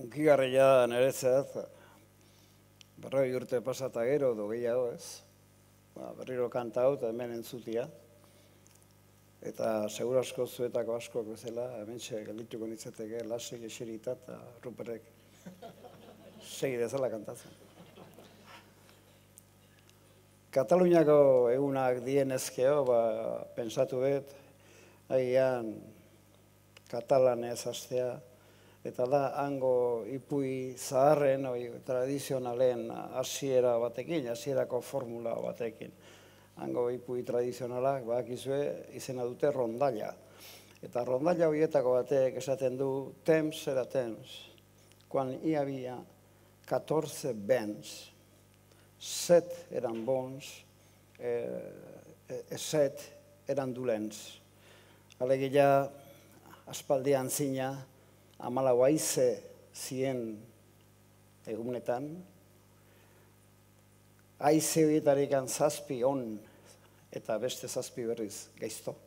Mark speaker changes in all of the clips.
Speaker 1: Hunkigarria niretzat, 40 urte pasata gero edo gehiago ez. Berriro kanta hau eta hemen entzutia. Eta seguru asko zuetako askoak bezala, hementxe geldituko nitzateke lasek eserita eta Ruperrek segi dezala kantatzen. Kataluniako egunak dienezkeo, pentsatu dut, agian katalanez hastea, eta da hango ipui zaharren, tradizionalen hasiera batekin, hasierako formula batekin. Hango ipui tradizionalak, bakizue, izena dute rondalla. Eta rondalla horietako batek esaten du, temps era temps, quan hi havia 14 vents, 7 eren bons, 7 eren dolents. Alegia, aspaldian zina, 14 haize zien egunetan, haize horietarik 7 on eta beste 7 berriz gaizto.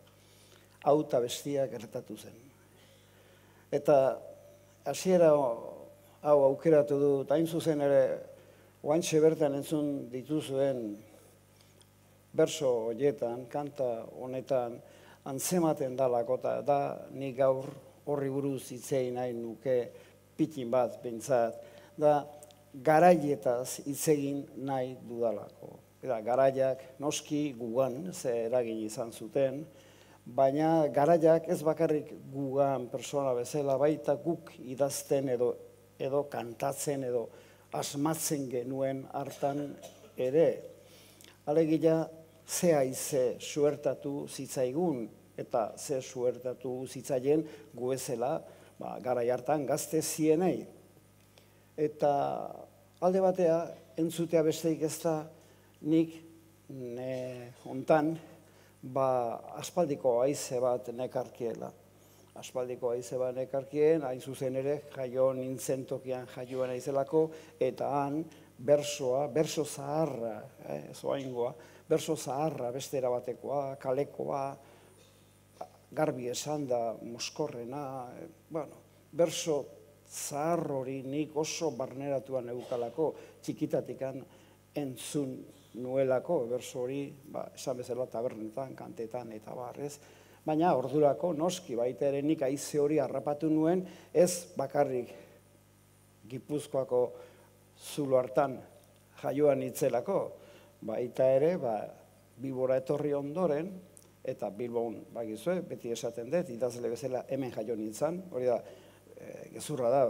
Speaker 1: Hau eta bestia gertatu zen. Eta hasiera hau aukeratu dut, hain zuzen ere, oantxe bertan entzun dituzuen berso horietan, kanta honetan, antzematen dalako, eta da nik gaur horri buruz hitzei nahi nuke pitin bat bintzat, da garaietaz hitzegin nahi dudalako. Eta garaiak noski gugan, ze eragin izan zuten, baina garaiak ez bakarrik gugan persona bezala, baita guk idazten edo kantatzen edo asmatzen genuen hartan ere. Alegia, ze haize suertatu zitzaigun, eta ze suertatu zitzaien gu bezala garai hartan gazte zienei. Eta alde batea, entzutea besteik ez da, nik hontan aspaldiko haize bat nekarkiela. Aspaldiko haize bat nekarkien, hain zuzen ere, jaio nintzen tokian jaioan aizelako, eta han berso zaharra, zoaingoa, berso zaharra, beste erabatekoa, kalekoa, garbi esan da, moskorrena, berso zahar hori nik oso barneratuan eukalako, txikitatikan entzun nuelako, berso hori, esan bezala tabernetan, kantetan eta barrez, baina ordurako noski baita ere nik haize hori harrapatu nuen, ez bakarrik Gipuzkoako zulo hartan jaioan itzelako, baita ere, Bilbora etorri ondoren, eta Bilbon, bagizue, beti esaten dut, idazle bezala hemen jaio nintzen, hori da, gezurra da,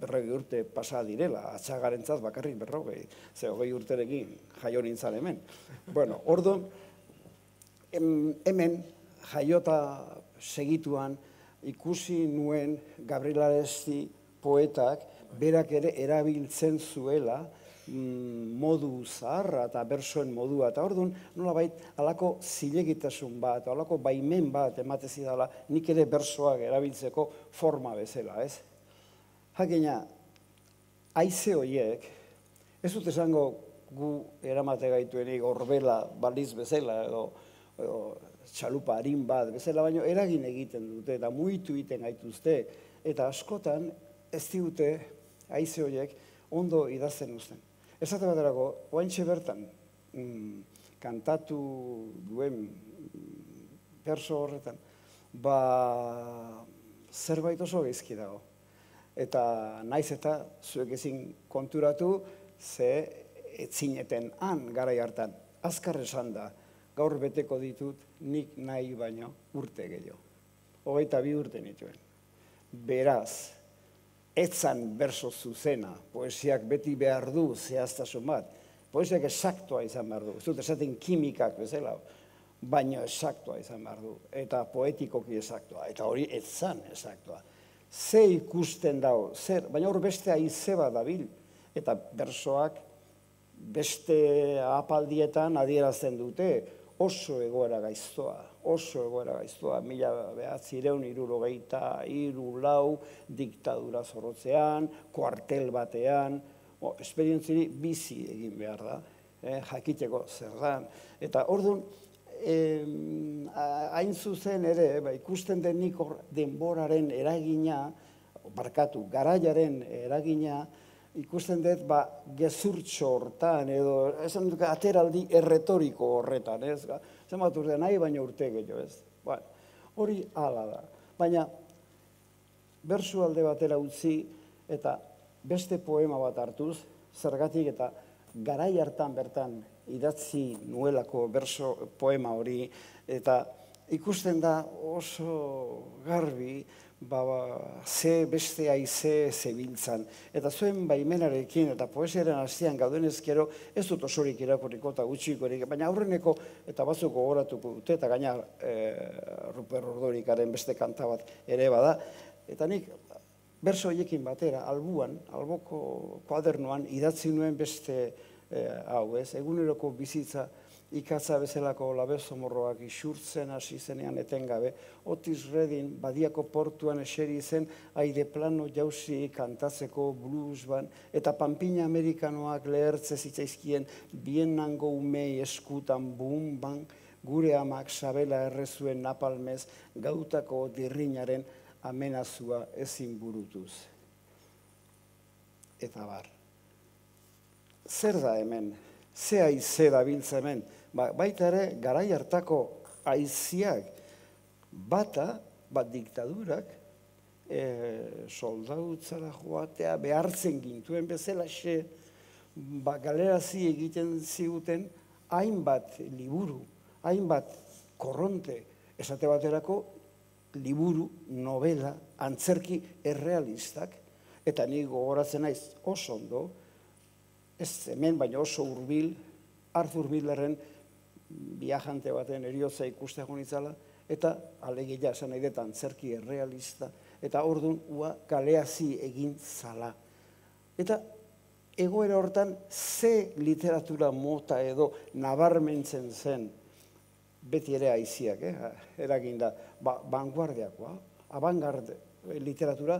Speaker 1: 40 urte pasa direla, atxagarentzat bakarrik 40, ze 20 urterekin jaio nintzen hemen. Bueno, orduan, hemen jaiota segituan ikusi nuen Gabriel Aresti poetak berak ere erabiltzen zuela modu zaharra eta bersoen modua. Eta orduan, nolabait, halako zilegitasun bat, halako baimen bat ematezi dela nik ere bersoak erabiltzeko forma bezala, ez? Jakina, haize horiek, ez dut esango gu eramate gaituenik orbela baliz bezala edo txalupa harin bat bezala, baina eragin egiten dute eta muitu egiten gaituzte. Eta askotan ez digute haize horiek ondo idazten uzten. Esate baterako, oantxe bertan, kantatu duen berso horretan, zerbait oso gaizki dago. Eta naiz eta zuek ezin konturatu, ze etzineten han garai hartan. Azkar esan da, gaur beteko ditut nik nahi baino urte gehiago. 22 urte nituen. Beraz, etzan berso zuzena, poesiak beti behar du zehaztasun bat. Poesiak esaktua izan behar du. Ez dut esaten kimikak bezala, baina esaktua izan behar du. Eta poetikoki esaktua. Eta hori etzan esaktua. Ze ikusten dago, baina hor beste haize bat dabil. Eta bersoak beste apaldietan adierazten dute oso egoera gaiztoa. 1973 diktadura zorrotzean, kuartel batean, esperientziri bizi egin behar da, jakiteko zer dan. Eta orduan, hain zuzen ere, ikusten denik denboraren eragina garaiaren eragina, ikusten dut, gezurtxo hortan, edo, esan dut, ateraldi erretoriko horretan, ez? Zenbat urte nahi, baina urte gehiago, ez? Hori hala da. Baina, bersu alde batera utzi, eta beste poema bat hartuz, zergatik eta garai hartan bertan idatzi nuelako poema hori, eta ikusten da oso garbi, ze beste haize zebiltzan. Eta zuen baimenarekin eta poesiaren hastian gauden ezkero, ez dut osorik irakurriko eta gutxikorik, baina aurreneko eta batzuk gogoratuko dute, eta gaina Ruper Ordorikaren beste kanta bat ere bada. Eta nik berso horiekin batera, alboko kuadernoan idatzi nuen beste hau ez, eguneroko bizitza ikatza bezalako labezomorroak isurtzen hasi zenean etengabe, Otis Redding Badiako portuan eseri zen aire plano jauzi kantatzeko blues ban, eta Panpina Amerikanoak lehertze zitzaizkien bienango umei eskutan bum ban, gure amak sabela errezuen napalmez gautako dirrinaren amenazua ezin burutuz. Eta bar. Zer da hemen? Ze haize dabiltza hemen? Baita ere, garai hartako haiziak bata, diktadurak, soldautzara joatea behartzen gintuen bezalaxe, galerazi egiten ziguten hainbat liburu, hainbat korronte, esate baterako liburu, novela, antzerki errealistak, eta ni gogoratzen naiz oso ondo, ez hemen baina oso hurbil, Arthur Millerren viajante baten eriotza ikuste nitzala, eta alegia esan nahi dut antzerki errealista, eta orduan galeazi egin zala. Eta egoera hortan ze literatura mota edo nabarmentzen zen, beti ere haiziak, eraginda, vanguardiakoa, avantgarde literatura,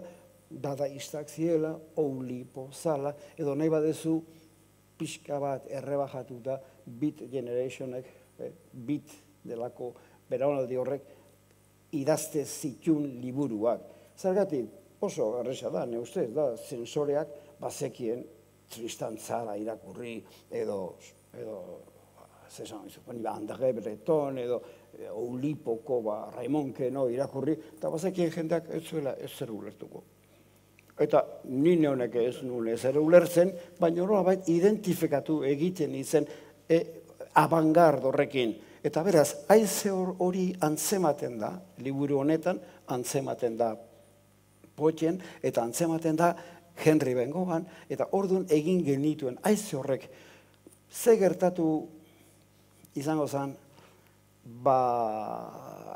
Speaker 1: dadaistak ziela, Oulipo, Zala, edo nahi badezu pixka bat errebajatuta Beat Generationek, Beat delako beraunaldi horrek idazte zitun liburuak. Zergatik, oso garresa da, ne ustez, da, zensoreak bazekien Tristan Tzara irakurri, edo André Breton, edo Oulipoko Raimonqueno irakurri, eta bazekien jendeak ez zuela ez zer ulertuko. Eta nire honek ez nuen ezer ulertzen, baina horrela identifikatu egiten izen abangard horrekin. Eta beraz, haize hori antzematen da, liburu honetan, antzematen da Poetien, eta antzematen da Henry Bengoan, eta orduan egin genituen haize horrek. Ze gertatu izango zen,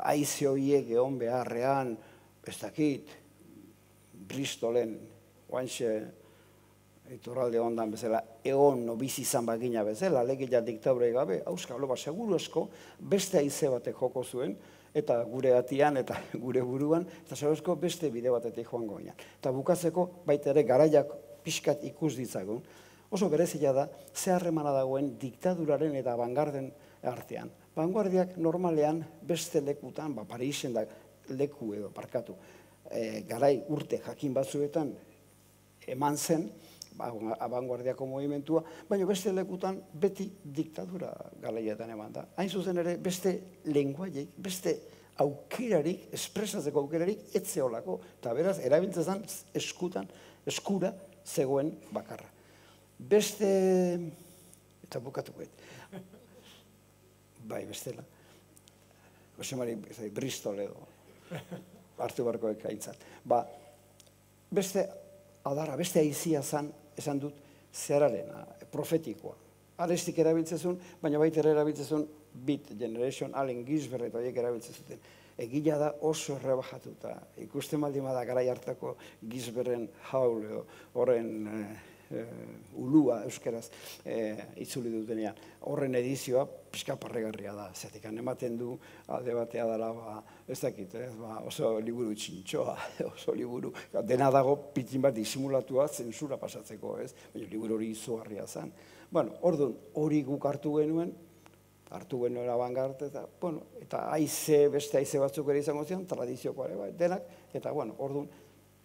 Speaker 1: haize horiek egon beharrean, ez dakit, Bristolen, oantxe, iturralde ondan bezala, egon bizi izan bagina bezala, alegia diktadurei gabe, auskalo, seguru esko, beste haize batek joko zuen, eta gure atian, eta gure buruan, eta seguru esko beste bide batetik joango ginen. Eta bukatzeko, baita ere, garaiak pixkat ikus ditzagun, oso berezia da, ze harremana dagoen diktaduraren eta abangarden artean. Vanguardiak normalean beste lekutan, Parisen da leku edo parkatu, garai urte jakin batzuetan eman zen, abanguardiako movimentua, baina beste lekutan beti diktadura garaietan eman da. Hain zuzen ere, beste lenguaiek, beste aukerarik, espresatzeko aukerarik, etzeolako, eta beraz, erabiltzen eskura zegoen bakarra. Beste, eta bukatuko bai, bestela, Josemari Bristol edo, hartu barkoek aintzat. Beste adarra, beste haizia zan, esan dut, zerarena, profetikoa. Arestik erabiltzezun, baina baita erabiltzezun Beat Generation, Allen Ginsberg eta horiek erabiltzezuten. Egila da oso errebajatuta. Ikusten baldin bada garai hartako Ginsbergen Haul, horren ulua euskeraz itzuli dutenean. Horren edizioa pixka parregarria da. Zetik ematen du alde batea dela, ez dakit, oso liburu txintxoa, oso liburu, dena dago pitin bat disimulatua zentsura pasatzeko, ez? Baina liburu hori izugarria zen. Bueno, orduan, hori guk hartu genuen abangard, eta beste haize batzuk ere izango zian, tradiziokoa ere, denak, eta orduan,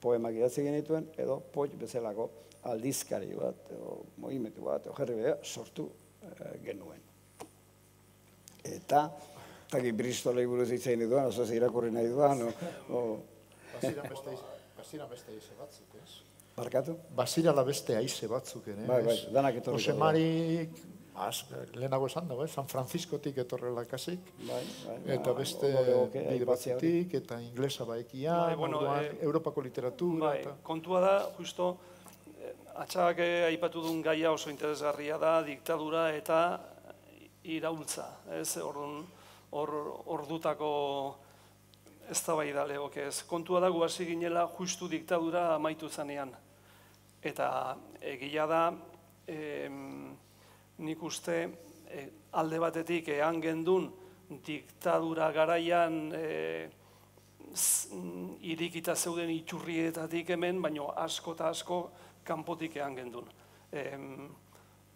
Speaker 1: poemak idatzi genituen, edo Poik bezalako aldizkari bat, edo mugimendu bat, edo jerri sortu genuen. Eta Bristolei buruz hitzein duan, oso irakurri nahi duan,
Speaker 2: Bazira beste aize batzuk, ez?
Speaker 1: Barkatu?
Speaker 2: Bazirala beste aize batzuk, ez?
Speaker 1: Bai, danak etorriko.
Speaker 2: Jose Marik, lehenago esan dago, San Franciscotik etorrela kasik, eta beste bide batzutik, eta inglesa baekian, Europako literatura.
Speaker 3: Kontua da, justo, atxak aipatu duen gaia oso interesgarria da, diktadura eta iraultza, ez? Ordutako eztabaida legoke ez. Kontua da gu hasi ginela justu diktadura amaitu zanean. Eta egia da, nik uste alde batetik ean gendun diktadura garaian irikita zeuden iturrietatik hemen, baina asko eta asko kanpotik ean gendun.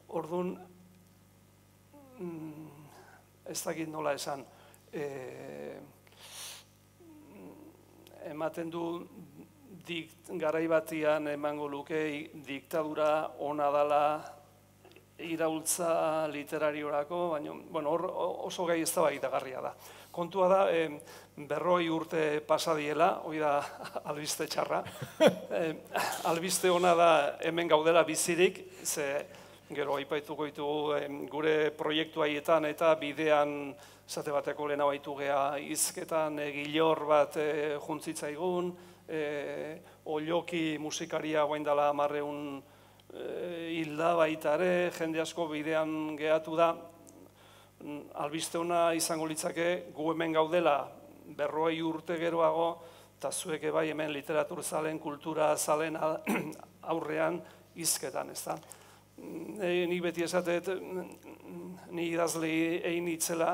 Speaker 3: Orduan, ez dakit nola esan, ematen du garai batian emango luke diktadura ona dela iraultza literariorako, baina oso gai eztabaidagarria da. Kontua da, 40 urte pasadiela, hori da albiste txarra. Albiste ona da hemen gaudela bizirik, ze gero aipaituko ditugu gure proiektu haietan eta bidean zate bateko lehena baitu geha izketan gilor bat juntzitzaigun, Olloki musikaria guain dela 1000 hilda baitare, jende asko bidean gehatu da. Albiste ona izango litzake gu hemen gaudela 40 urte geroago, eta zuek bai hemen literatur zalen, kultura zalen aurrean izketan, ez da. Nik beti esatet, ni idazle egin itzela,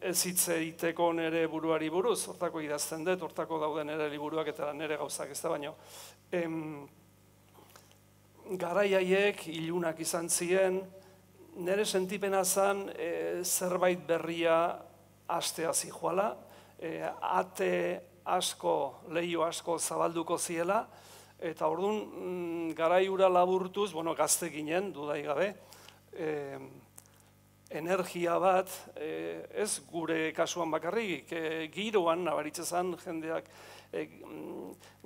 Speaker 3: ez hitz egiteko nire buruari buruz, hortako idazten dut, hortako dauden nire liburuak eta nire gauzak ez da baino. Garai haiek ilunak izan ziren, nire sentipena zen zerbait berria hastea zijoala, ate asko, leiho asko zabalduko ziela, eta orduan garai hura laburtuz, gazte ginen, dudai gabe, energia bat, ez gure kasuan bakarrik, giroan nabaritzen zen jendeak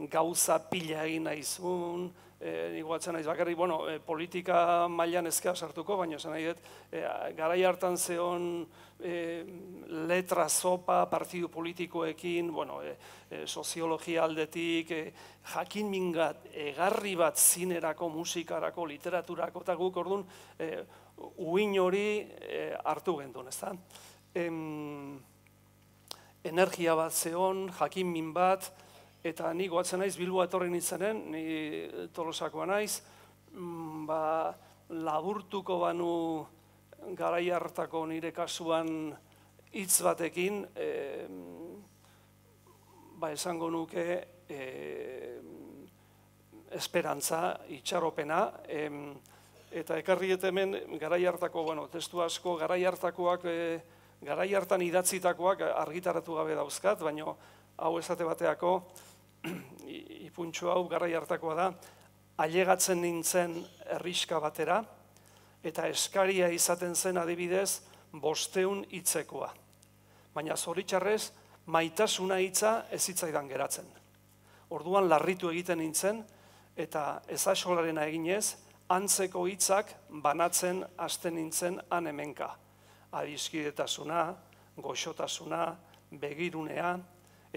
Speaker 3: gauza pila egin nahizun, nik batzen naiz bakarrik, politika mailan ezkera sartuko, baina esan nahi dut, garai hartan zeon letra zopa partidu politikoekin, soziologia aldetik, jakin mingat, egarri bat zinerako, musikarako, literaturako, eta guk orduan, uin hori hartu gendun, ez da? Energia bat zeon, jakin min bat, eta ni goatzen naiz Bilboa etorri nintzenen, ni Tolosakoa naiz, laburtuko banu garai hartako nire kasuan hitz batekin, esango nuke esperantza, itxaropena, eta ekarri hemen garai hartako, testu asko, garai hartan idatzitakoak argitaratu gabe dauzkat, baina hau esate bateako, ipuntxo hau garai hartakoa da, ailegatzen nintzen herriska batera, eta eskaria izaten zen adibidez 500 hitzekoa. Baina zoritxarrez, maitasuna hitza ez hitzaidan geratzen. Orduan larritu egiten nintzen, eta ezaxolarena eginez, antzeko hitzak banatzen hasten nintzen han hemenka. Adiskidetasuna, goxotasuna, begirunea,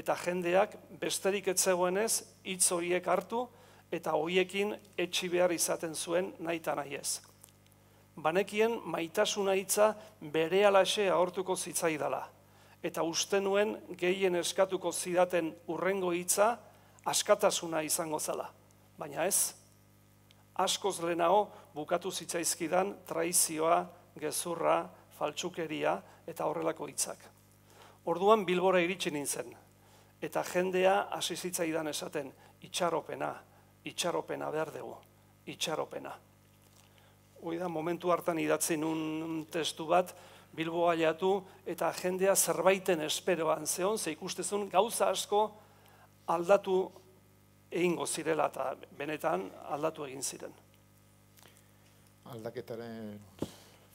Speaker 3: eta jendeak besterik ez zegoenez hitz horiek hartu eta horiekin etxi behar izaten zuen nahi eta nahi ez. Banekien maitasuna hitza berehalaxe ahortuko zitzaidala, eta uste nuen gehien eskatuko zidaten hurrengo hitza askatasuna izango zela, baina ez. Askoz lehenago bukatu zitzaizkidan traizioa, gezurra, faltsukeria eta horrelako hitzak. Orduan Bilbora iritsi nintzen, eta jendea hasi zitzaidan esaten, itxaropena, itxaropena behar dugu, itxaropena. Hoi da, momentu hartan idatzi nun testu bat, Bilboa jatu, eta jendea zerbaiten esperoan zeon, ze ikustezun gauza asko aldatu egingo zirela eta benetan aldatu egin ziren.
Speaker 2: Aldaketaren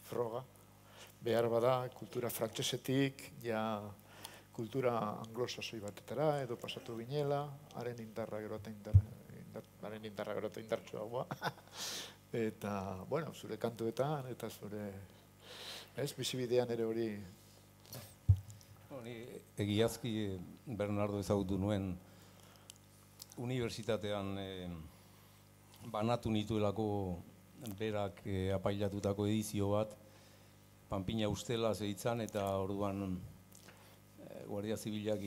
Speaker 2: froga, behar bada kultura frantsesetik, ja kultura anglosasoi batetara, edo pasatu ginela, haren indarra gerota indartsuagoa. Eta, bueno, zure kantuetan, eta zure, bizibidean ere hori.
Speaker 4: Egiazki Bernardo ezagutu nuen unibertsitatean banatu nituelako berak apailatutako edizio bat, Panpina ustela zeitzan, eta orduan Guardia Zibilak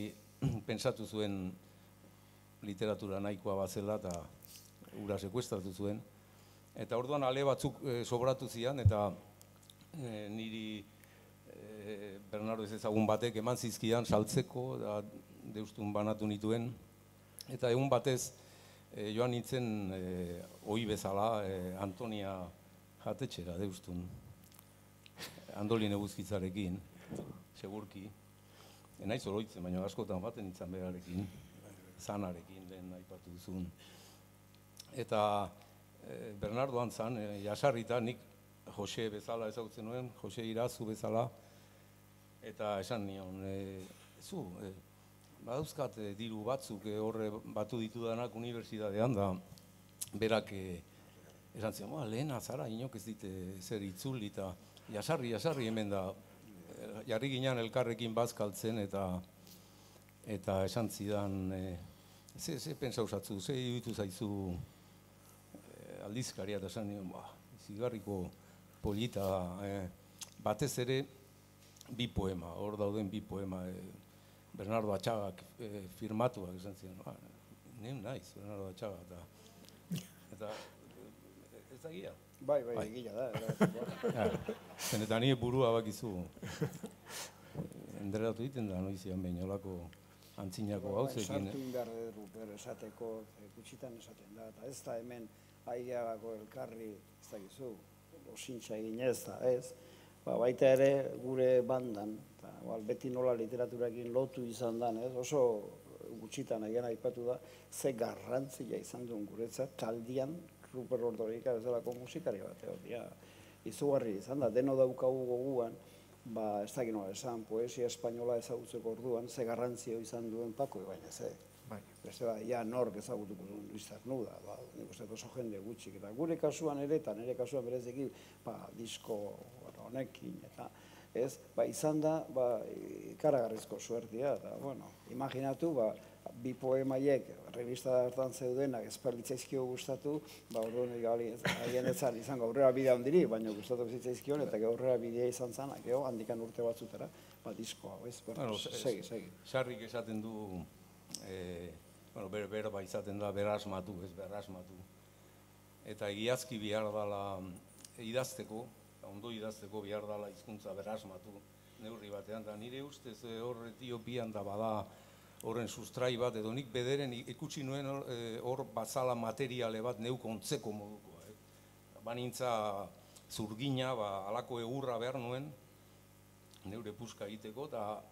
Speaker 4: pentsatu zuen literatura nahikoa bazela eta ura sekuestratu zuen. Eta orduan ale batzuk sobratu zian, eta niri Bernardo ez ezagun batek eman zizkidan saltzeko, da deustun banatu nituen. Eta egun batez joan nintzen ohi bezala Antonia jatetxera deustun. Andolin eguzkitzarekin, segurki. Naiz oroitzen, baina askotan baten nintzen berarekin, zanarekin lehen aipatu duzun. Eta Bernardo antzan, jasarrita, nik Jose bezala ezagutzen nuen, Jose Irazu bezala, eta esan nion, zu, badauzkat diru batzuk horre batu ditudanak unibertsitatean, da berak esan zion, lehen azara, inok ez dite zer itzuli, eta jasarri hemen da, jarri ginen elkarrekin bazkaltzen, eta esan zidan, ze pentsa usatzu, ze iruditu zaizu aldizkaria, eta esan nion, zigarriko polita, batez ere bi poema, hor dauden bi poema, Bernardo Atxagak firmatuak esan zidan, nien naiz, Bernardo Atxaga, eta ez da gira.
Speaker 1: Bai, egia da.
Speaker 4: Eta nire burua bakizu, enderatu egiten da, noizian behin olako antzinako gauzekin.
Speaker 1: Sartu indar Ruper esateko, gutxitan esaten da, eta ez da hemen aigeagako elkarri, ez da gizu, osintxa egin ez da, ez. Baita ere gure bandan, beti nola literaturakin lotu izan dan, oso gutxitan egin aipatu da, ze garrantzia izan duen guretzat, taldian, Ruper Ordorika bezalako musikari bat, izugarri izan da, deno daukagu goguan, ez dakit nola esan, poesia espainola ezagutzeko orduan, ze garrantzio izan duen Pako Ibañez, beste ja nork ezagutuko duen Luis Cernuda, nik uste oso jende gutxik, eta gure kasuan ere, eta nire kasuan bereziki, disko honekin, eta izan da, ikaragarrizko suertia, eta, imaginatu, bi poemaiek revista hartan zeudenak esperditzaizkio gustatu, orduan haien etzan izango aurrera bidea ondiri, baina gustatu zitzaizkion, eta aurrera bidea izan zan, handikan urte batzutara, diskoa, segi.
Speaker 4: Sarrik esaten du, berba izaten da berasmatu, ez berasmatu. Eta egiazki behar dala idazteko, ondo idazteko behar dala hizkuntza berasmatu neurri batean, eta nire ustez hor Etiopian da bada horren sustrai bat, edo nik bederen ikusi nuen hor bazala materiale bat neuk ontzeko modukoa. Banintza zurgina, alako egurra behar nuen, neure puska egiteko, eta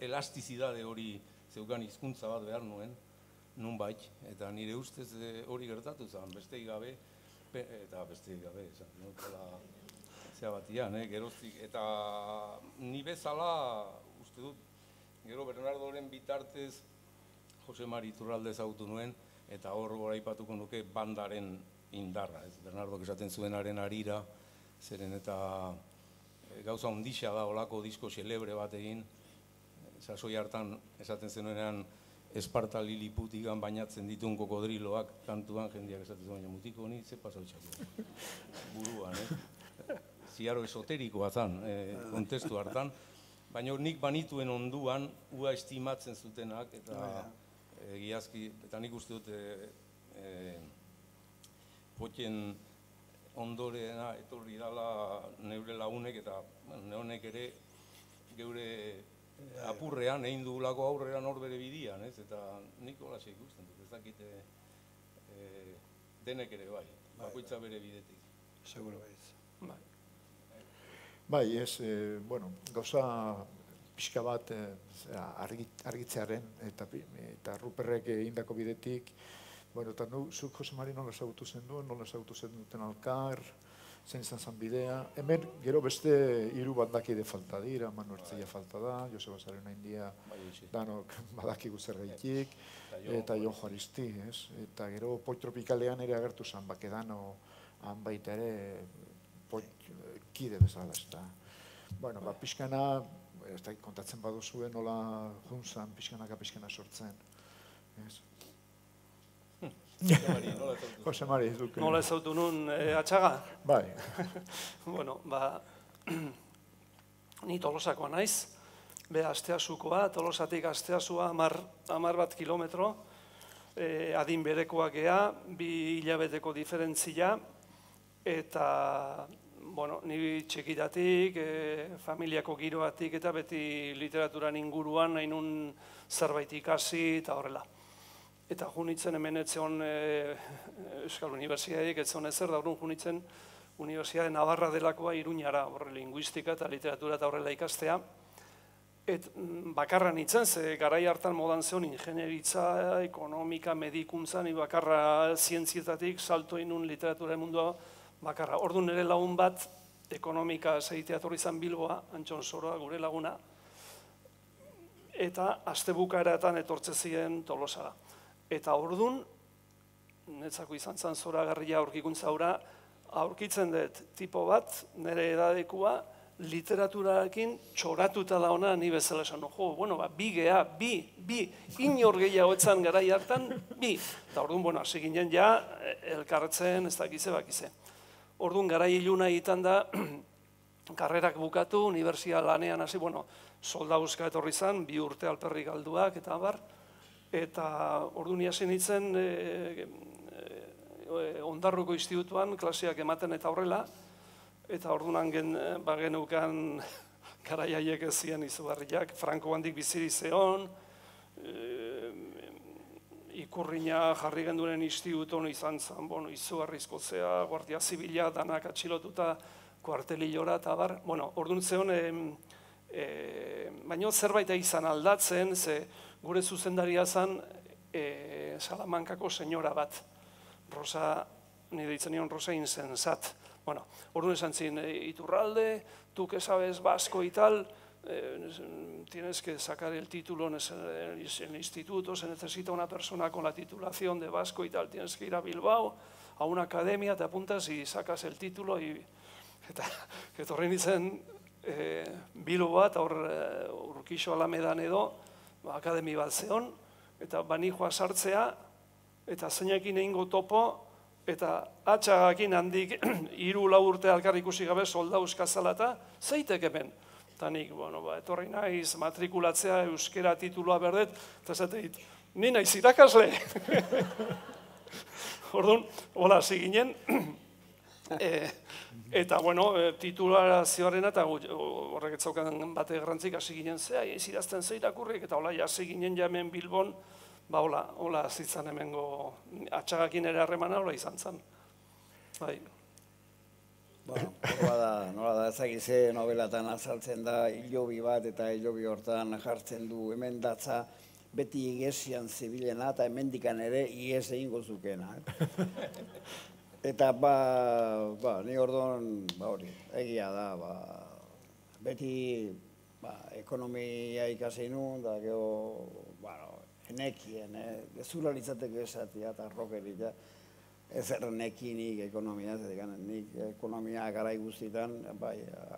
Speaker 4: elastizidade hori zeukan hizkuntza bat behar nuen, nunbait, eta nire ustez hori gertatu zen, besteik gabe, esan nukela zea batian, geroztik, eta ni bezala, uste dut, gero Bernardoren bitartez Jose Mari Iturralde ezagutu nuen, eta hor goraipatuko nuke bandaren indarra. Bernardok esaten zuenaren harira, zeren eta gauza ondixea da olako disko xelebre bat egin, sasoi hartan esaten zenuenean Esparta Liliputigan bainatzen dituen kokodriloak kantuan jendeak esaten zuen, baina mutiko honi ze pasautxako buruan, ziaro esoterikoa zan, kontestu hartan, baina nik banituen onduan, ua estimatzen zutenak, eta egiazki, eta nik uste dut potien ondorena etorri dala neure lagunek, eta neonek ere geure apurrean, egin dugulako aurrean hor bere bidian, eta nik holaxe ikusten dut, ez dakite denek ere bai, bakoitza bere bidetik.
Speaker 1: Seguro baiz.
Speaker 2: Bai, gauza pixka bat argitzearen, eta Ruperrek egindako bidetik, Bueno, eta zuk, Jose Mari, nola ezagutu zen duen, nola ezagutu zen duten alkar, zein izan zen bidea. Hemen, gero beste 3 bandakide falta dira, Manu Ertzia falta da, Joseba Sarena India, danok badakigu zergaitik, eta Jon Juaristi, ez? Eta gero Poit Tropikalean ere agertu zen, Bakedano, han baita ere, kide bezala, ez da. Bueno, pixkana, kontatzen baduzuen, nola juntzan, pixkana sortzen, ez? Jose Mari, duke.
Speaker 3: Nola ezautu nun atxaga?
Speaker 2: Bai.
Speaker 3: Bueno, ni Tolosakoa naiz, Asteasukoa, Tolosatik Asteasua 10 kilometro, adin berekoak gea, 2 hilabeteko diferentzia, eta, bueno, ni txikitatik, familiako giroatik eta beti literaturan inguruan nahi nun zerbait ikasi eta horrela. Eta junitzen hemen etzeon Euskal Unibertsitateik etzeon ezer, da horren junitzen Unibertsitate Navarra delakoa Iruñara, horre linguistika eta literatura eta horrela ikastea. Bakarra nintzen, ze garai hartan modan zeon ingenieritza, ekonomika, medikuntza, ni bakarra zientzietatik salto inun literatura mundua bakarra. Orduan nire lagun bat, ekonomika zeitea torri zan Bilboa, Antxon Soroa, gure laguna, eta astebukaeratan etortze ziren Tolosara. Eta orduan, netzako izan zan zoragarria aurkikuntza hura, aurkitzen dut tipo bat, nire edadekua, literaturarekin txoratuta da ona ni bezala esan. Bueno, bi gea, bi, inor gehiago etzan garai hartan, bi. Eta orduan, hasi ginen ja, elkartzen, ez dakize, bakize. Orduan, garai iluna egiten da, karrerak bukatu, unibertsia lanean hasi, soldauzka etorri zan, 2 urte alperrik galduak, eta bar. Eta orduan hasi nintzen Ondarruko institutuan klaseak ematen eta horrela, eta orduan genukan garaiaiek ez ziren izugarriak, Franko handik biziri zeon, ikurrina jarri genduen instituton izan zen, izugarrizko zea, Guardia Zibila, danak atxilotuta, kuartelilora eta bar. Orduan zeon, baina zerbait izan aldatzen, ze gure zuzendaria zen Salamankako senyora bat, Rosa, nire ditzen nion Rosa insensat. Orduan esan zin, Iturralde, tu que sabes vasco y tal, tienes que sacar el título en el instituto, se necesita una persona con la titulación de vasco y tal, tienes que ir a Bilbao, a una academia, te apuntas y sacas el título, eta etorri nintzen Bilbo bat, Urkixo Alamedan edo, akademi bat zeon, eta banijoa sartzea, eta zeinekin egingo topo, eta atxagakin handik 3-4 urte alkar ikusi gabe soldauzka zalata, zeitek hemen. Eta nik, etorri naiz, matrikulatzea, euskera titulua berdet, eta zateit, ni naiz irakasle. Orduan, hola, hasi ginen, eta, titulazioarena, eta horrek etzaukan bate garrantzik hasi ginen zea, izirazten ze irakurrik, eta hola, hasi ginen jamen Bilbon, hola, zitzan hemengo atxagakin ere harremana, hola izan zen. Bai.
Speaker 1: Nola da, ezagize nobelatan azaltzen da, hilobi bat eta hilobi hortan jartzen du hemen datza, beti igesian zibilena eta hemendikan ere iges egingo zukena. Eta ni orduan, hori, egia da, beti ekonomia ikasi nun, da geho, enekien, gezula litzateke esatia eta rokerik, ez ernekinik ekonomia, nik ekonomia garai guztietan,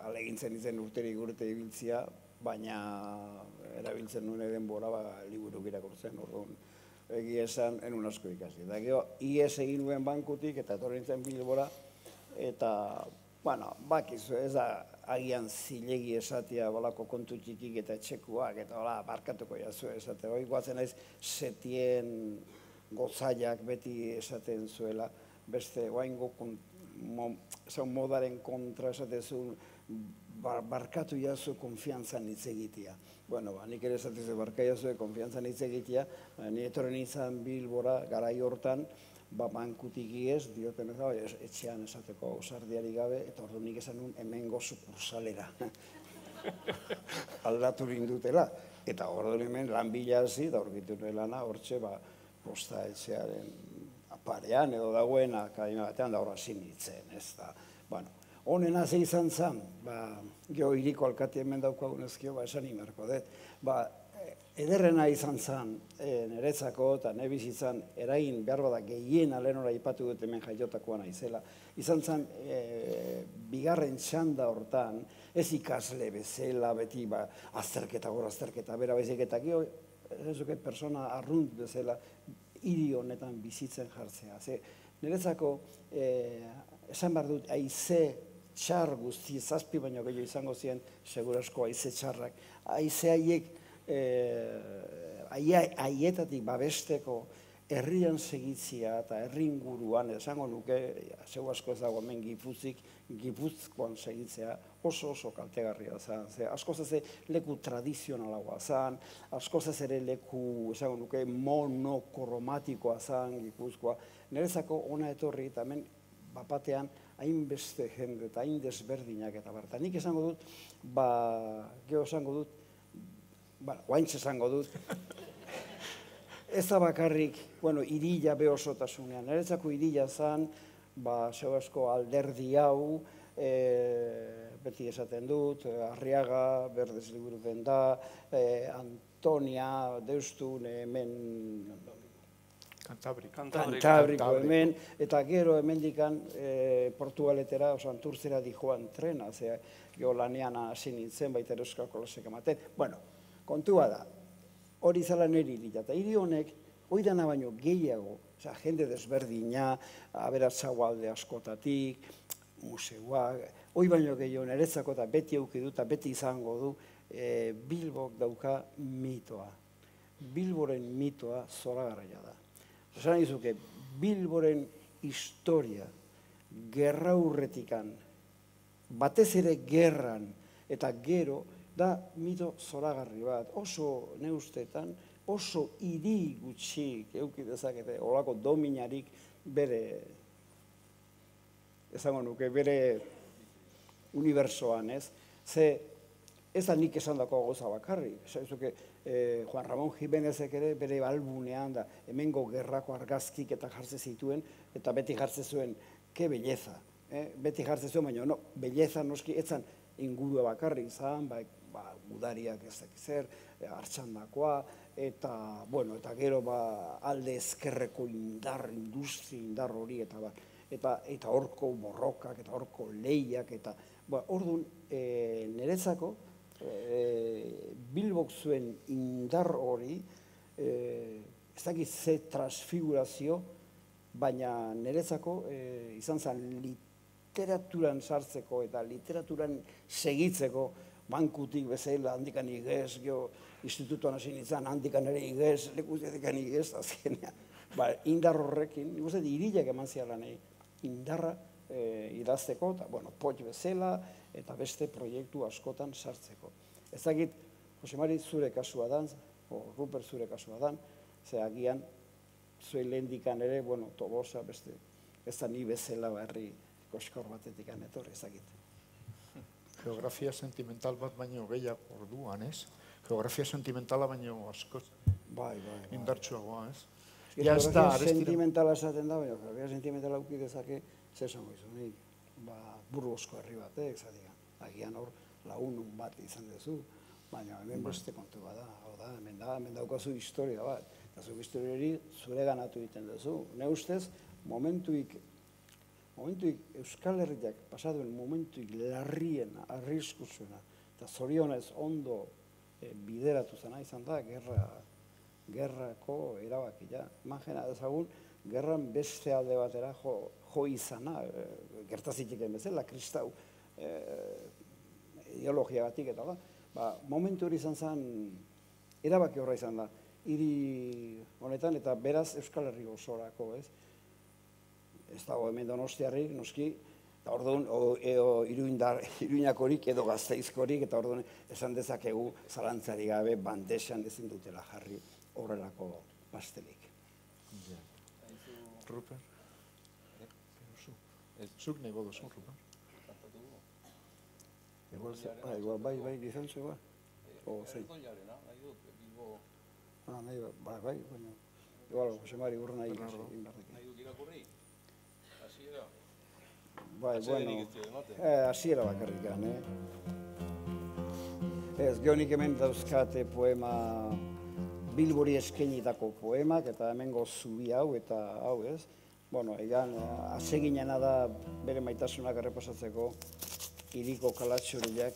Speaker 1: alegintzen izen urterik urte ibiltzia, baina erabiltzen nuen denbora liburuk irakurtzen, orduan, egia esan, enun asko ikasi. Eta geho, ies egin nuen bankutik eta etorri nintzen Bilbora, eta, bakizu, ez da, agian zilegi esatia balako kontu txikik eta etxekuak, eta barkatuko jazu esatea. Hoi guatzen naiz setien gozaiak beti esaten zuela, beste oaingo modaren kontra esatezun, barkatu jazu konfiantzan hitz egitea. Nik ere esatezu barkatu jazu konfiantzan hitz egitea, ni etorren izan Bilbora garai hortan, bankutik iez, dioten ez, etxean esateko ausardiari gabe, eta ordu nik esan nun hemengo sukursalera. Aldatu rindutela. Eta ordu hemen lan bila hasi, eta orkitu lana, hortxe, posta etxearen parean edo dagoena akademia batean da horra sinitzen, ez da. Bueno, honen hasi izan zen, geho hiriko alkati hemen daukagunezkio, esan imarko dut, ederrena izan zen niretzako eta ne bizitzan eragin behar bada gehien alenora ipatu dut hemen jaiotakoa naizela. Izan zen bigarren txanda hortan, ez ikasle bezala, beti azterketa, gora azterketa, bera baizik eta gero, ez persona arrunt bezala, hiri honetan bizitzen jartzea. Niretzako, esan behar dut, haize txar guzti, 7 baino gehiago izango ziren, segurasko haize txarrak, haize haiek, haietatik babesteko herrian segitzia eta herri inguruan, esango nuke, zeu asko ez dago hemen Gipuzkoan segitzea oso kaltegarria zen. Askoz ez leku tradizionalagoa zen, askoz ez ere leku, esango nuke, monokromatikoa zen Gipuzkoa. Niretzako ona etorri eta hemen bapatean hainbeste jende eta hain desberdinak eta barta. Nik esango dut, geho esango dut, guaintz esango dut, ez da bakarrik, irila behosotasunean. Niretzako irila zen, zeu asko alderdi hau, beti esaten dut, Arriaga, Berdez liburu den da, Antonia, Deustun, hemen... Kantabriko hemen, eta gero hemendikan Portugaletera, Anturtzera dijoan trena, geho lanean hasi nintzen, baita Euskal Kolosek ematen. Bueno, kontua da, hori zala niri irila, eta hiri honek, hori dana baino gehiago, jende desberdina, aberatzago alde askotatik, museoak, hori baino gehiago niretzako eta beti aukidu eta beti izango du, Bilbok dauka mitoa. Bilboren mitoa zoragarria da. Esan izuke, Bilboren historia, gerra urretikan, batez ere gerran, eta gero, da mito zoragarri bat, oso neustetan, oso hiri gutxik euki dezakete, olako dominarik bere, esango nuke, bere unibersoan, ez? Ze, ez da nik esan dako goza bakarri, Juan Ramón Jimenezek ere bere albunean da, hemengo gerrako argazkik eta jartze zituen, eta beti jartze zuen, ke belleza, beti jartze zuen, baina no, belleza noski, etzan ingurua bakarri izan, gudariak ez dakizer, hartxandakoa, eta gero alde ezkerreko industri indar hori, eta horko borrokak, eta horko lehiak, eta orduan niretzako, Bilbok zuen indar hori, ez dakit ze transfigurazio, baina niretzako izan zen literaturan sartzeko eta literaturan segitzeko, bankutik bezala, handikan igez, institutuan hasi nintzen, handikan ere igez, lekuzietan igez, azkenean. Indar horrekin, nik uste, irilak eman zialan indarra idazteko, eta, potx bezala, eta beste proiektu askotan sartzeko. Ez dakit, Jose Mari zure kasua dan, Ruper zure kasua dan, ze agian, zuen lehendikan ere, Tolosa, beste, ez da ni bezala herri koskor batetik etorri, ez dakit.
Speaker 2: Geografia sentimental bat baino gehiago orduan, ez? Geografia sentimentala baino askoz indartsuagoa, ez?
Speaker 1: Geografia sentimentala esaten da, baina geografia sentimentala auki dezake, zesango izu, Burgosko herri batek, agian hor lagunun bat izan duzu, baina hemen beste kontu bada, hemen daukazu historia bat, eta zu historia hori zure ganatu egiten duzu. Ne ustez, momentuik Euskal Herriak pasaduen momentuik larrien, arriskuzuena, eta zorionez ondo bideratu zena izan da, gerrako erabakia. Imagina dezagun, gerran beste alde batera jo izana, gertazitik bezala, kristau ideologiagatik eta momentu hori izan zen, erabaki horra izan da, hiri honetan, eta beraz Euskal Herri osorako, ez? Ez dago hemen Donostiarrik, noski, eta orduan, Iruñakorik edo Gasteizkorik, eta orduan esan dezakegu zalantzari gabe bandesan ezin dutela jarri horrelako pastelik.
Speaker 2: Ruper? Zuk nahi bodo zuen, Ruper?
Speaker 1: Igual, bai, izan zua. Bai, baina... igual, Jose Mari urruna egin barrik.
Speaker 4: Nahi duk irakurri? Hasiera?
Speaker 1: Bai,
Speaker 4: Atsedenik
Speaker 1: bueno,
Speaker 4: ez dio ematen.
Speaker 1: hasiera bakarrikan, Ez, gehonik hemen dauzkate poema Bilbori eskenitako poemak, eta hemengo zubi hau eta hau, ez? Bueno, egan, aseginena da bere maitasunak errepasatzeko hiriko kalatxuriak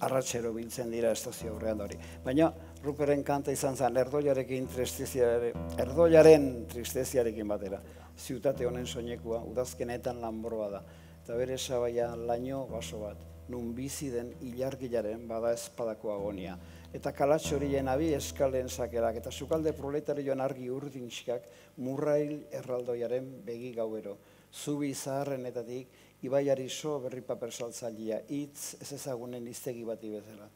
Speaker 1: arratsero biltzen dira estazio aurrean hori. Baina Ruperen kanta izan zen erdoiaren tristeziarekin batera. Ziutate honen soinekua, udazkenetan lanbroa da. Eta bere sabaia laino baso bat, nun bizi den ilargilaren bada espadako agonia. Eta kalatxorien abi eskalen sakerak, eta sukalde proletarioan argi urdinxkak murrail erraldoiaren begi gauero. Zubi zaharrenetatik, ibaiari so berri paper saltzailea, hitz ez ezagunen iztegi bati bezala.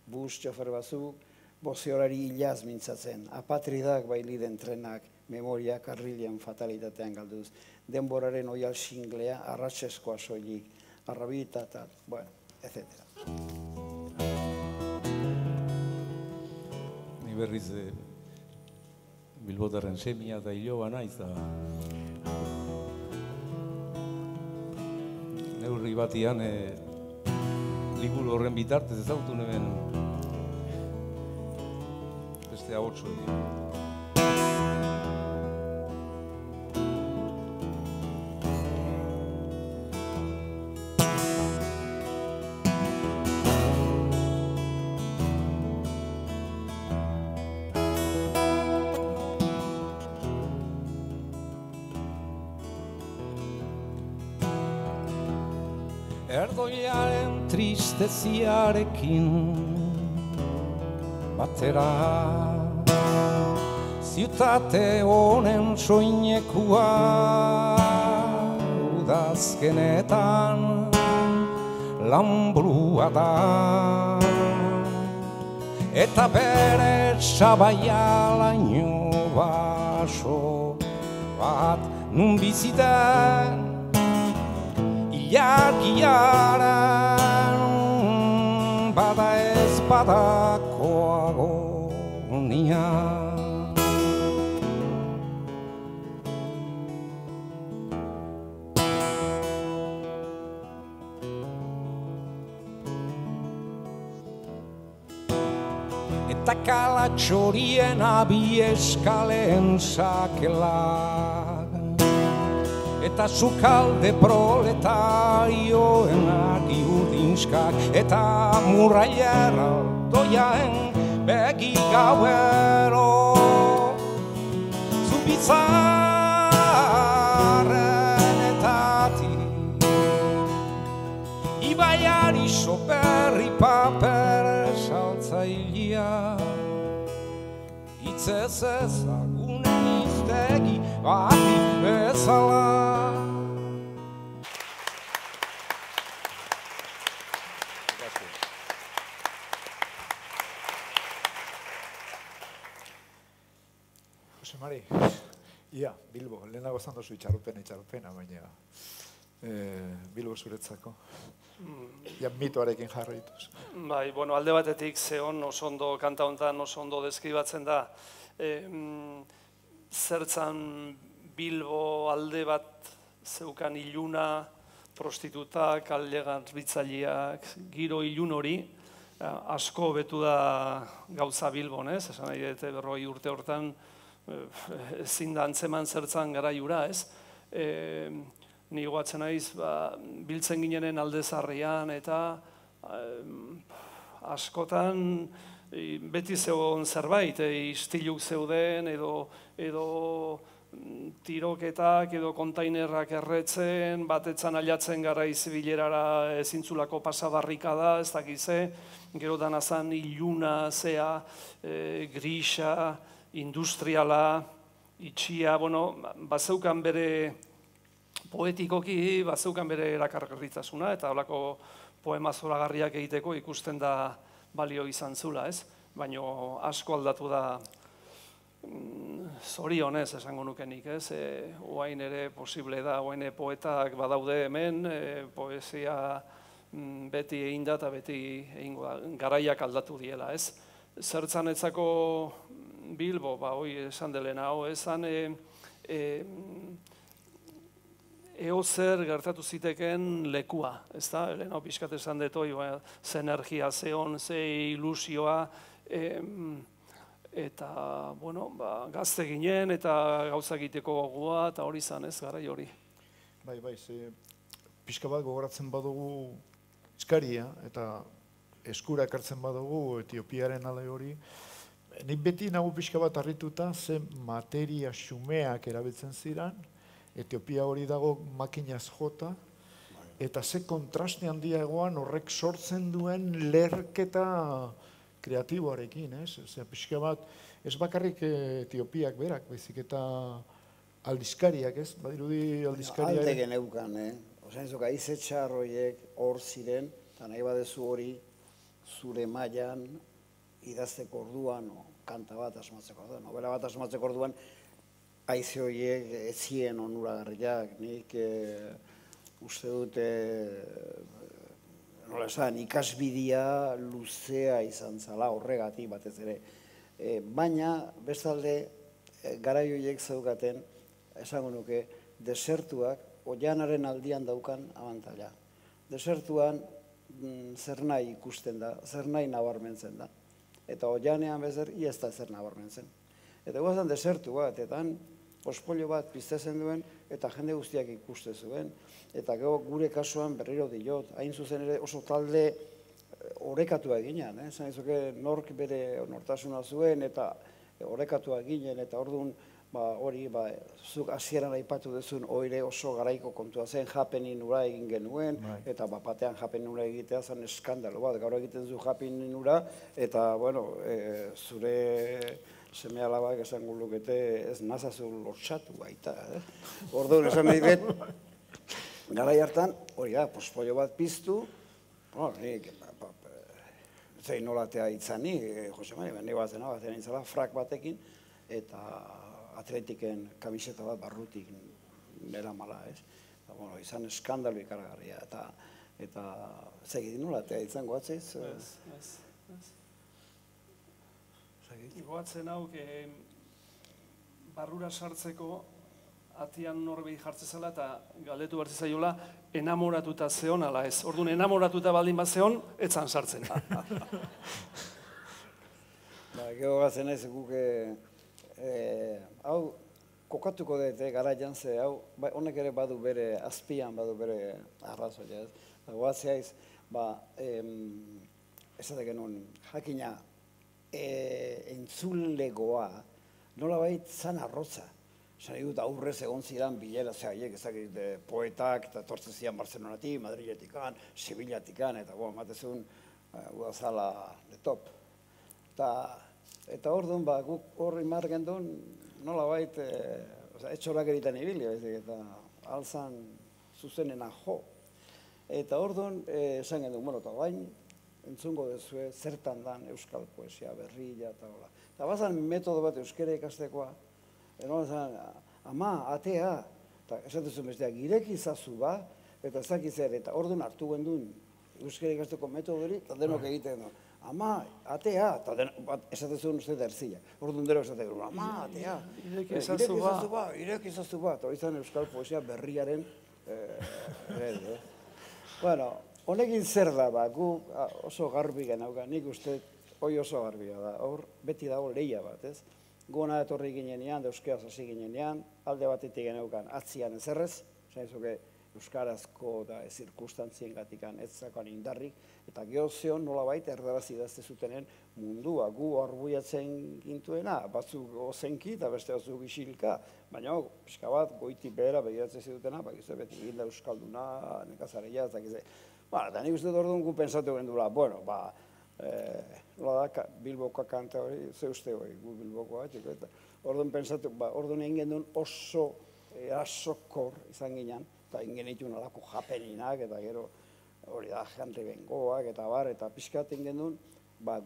Speaker 1: Bus txofer batzuk, bozeorari hilaz mintzatzen, apatridak bailiden trenak, memoria karrilean fatalitatean galduz, denboraren oial singlea, arratseskoa soilik, arrabita, bueno, etc.
Speaker 4: Ni berriz Bilbotarren semia eta hiloba naiz da. Neurri batian liburu horren bitartez ezagutu neben beste ahotsu egin. Erdoiaren tristeziarekin batera ziutate honen soinekua udazkenetan lanbrua da eta bere sabaia laino baso bat nun biziten Ilargiaren bada ez badako agonia. Eta kalatxorien abi eskalen sakelak eta sukalde proletarioen argi urdinskak eta murrailera doiaen begi gauero zubitzarrenetatik ibaiari soperri paper saltzailea hitzez ezagunen iztegi bati bezala.
Speaker 2: Jose Mari, ia, Bilbo, lehenago zan dozu itxaropena, baina Bilbo zuretzako. Ia mitoarekin jarraituz.
Speaker 3: Bai, bueno, alde batetik zehon oso ondo kanta honetan oso ondo deskribatzen da. Zertzan Bilbo alde bat zeukan iluna, prostitutak, alde garbitzaileak, giro ilun hori, asko betu da gauza Bilbon, ez? Esan nahi dute 40 urte hortan ezin da antzeman zertzan garaiura, ez? Ni goatzen naiz, biltzen ginenen alde zarrian eta askotan beti zegoen zerbait, istiluk zeuden edo tiroketak edo kontainerrak erretzen, batetzan ailatzen gara izibilerara ezintzulako pasabarrika da, ez dakize, gero danazan iluna, zea, grisa, industriala, itxia, bueno, bazeukan bere poetikoki, bazeukan bere erakargarritasuna, eta holako poema zoragarriak egiteko ikusten da balio izan zula, ez? Baina asko aldatu da zorionez esango nukenik, ez? Oain ere posible da, oain poetak badaude hemen, poesia beti egin da eta beti garaiak aldatu diela, ez? Zertzanetzako Bilbo, hoi esan delena, esan eo zer gertatu ziteken lekua, ez da? Lehen pixkat esan detoi, ze energia, ze on, ze ilusioa, eta, bueno, gazte ginen eta gauza egiteko gogoa, eta hori izan ez, garai hori.
Speaker 2: Bai, ze pixka bat gogoratzen badugu eskaria, eta eskura ekartzen badugu Etiopiaren ale hori, nik beti nago pixka bat harrituta ze materia xumeak erabiltzen ziren, Etiopia hori dago makinaz jota, eta ze kontraste handia egoan horrek sortzen duen lerketa kreatiboarekin, ez? Osea, pixka bat, ez bakarrik Etiopiak berak, baizik eta aldizkariak, ez? Badirudi aldizkariak...
Speaker 1: Alde geneukan, Osea, ez haize txar horiek hor ziren, eta nahi badezu hori zure mailan idazteko orduan, kanta bat asmatzeko orduan, novela bat asmatzeko orduan, haize horiek ez ziren onuragarriak, nik uste dute, nola esan, ikasbidea luzea izan zala horregatik batez ere. Baina, bestalde, garai horiek zeukaten, esango nuke, desertuak oianaren aldian daukan abantaila. Desertuan zer nahi ikusten da, zer nahi nabarmentzen da. Eta oianean bezer, ez da zer nabarmentzen. Eta guazan desertu bat, eta pospolio bat piztezen duen, eta jende guztiak ikuste zuen. Eta gure kasuan berriro diot, hain zuzen ere oso talde orekatua ginean. Zan izuke nork bere nortasuna zuen, eta orekatua ginen, eta orduan hori, zuk hasieran aipatu duzun oire oso garaiko kontua zen, japenin ura egin genuen, eta batean japenin ura egitea zen eskandalo bat, gaur egiten zu japenin ura, eta, bueno, zure seme alabak esango lukete ez nazazu lortxatu baita. Orduan esan nahi bet, garai hartan, hori da, pospollo bat piztu, nik, zein nolatea itzani, Jose Mari, bendi batzen itzala, frak batekin, eta atletiken kamiseta bat barrutik nera mala, ez? Izan eskandalu ikaragarria, eta zegit nolatea izango atzeiz?
Speaker 3: Ez. Goatzen hau, barrura sartzeko atian norbei jartzezela eta galdetu bertze zaiola enamoratuta zeon ala ez. Orduan enamoratuta baldin bat zeon, etzan sartzen.
Speaker 1: Gero gatzen ez guke, hau kokatuko dut garaian ze, hau honek ere badu bere azpian, badu bere arrazoia ez. Goatzea ez, esatek genuen jakina, entzulegoa, nola bait zan arrotza. Zan dut aurrez egon ziren bilera zehaiek, ezakit poetak, eta tortzen ziren Barcelonatik, Madriletikan, Sevillatikan, eta matezun udazala de top. Eta orduan, guk horri margen duen, nola bait, etxorak egiten ibili, eta alzan zuzenena jo. Eta orduan, esan gendun, bueno, eta bain, entzungo dezue, zertan dan euskal poesia, berrila, eta hola. Eta bazan metodo bat euskera ikastekoa, eroan zan, ama, atea, eta esatezun besteak, ireki izazu ba, eta ezakizera, eta orduan hartu gendun euskera ikasteko metodo hori, eta denok egiten du. Ama, atea, eta esatezun uste derzila. Orduan dero esatek, ama, atea, ireki izazu ba, eta hori zan euskal poesia berriaren eredu. Bueno, honekin zer da, gu oso garbi genauka, nik uste hoi oso garbia da, hor beti dago lehia bat, ez? Gona etorri ginenean, euskeraz hasi ginenean, alde batetik genaukan atzian ezerrez, zaizuke euskarazko da zirkustantzien gatikan ez zakoan indarrik, eta geozion nolabait erdaraz idazte zutenen mundua, gu arbuiatzen gintuena, batzuk ozenki eta beste batzuk isilka, baina pixka bat goiti behera begiratzen zitutena, bakizu beti ginda euskalduna, nekazareia, ez dakize. Eta nik uste dut orduan gu pensatu gendula, bueno, nola da, Bilbokoa kanta hori, ze uste hori, gu Bilbokoa, eta orduan pensatu, orduan egin gendun oso asokor izan ginen, eta ingen ditun alako japeninak, eta gero hori da, Henry Bengoak, eta bar, eta pixkat ingen duen,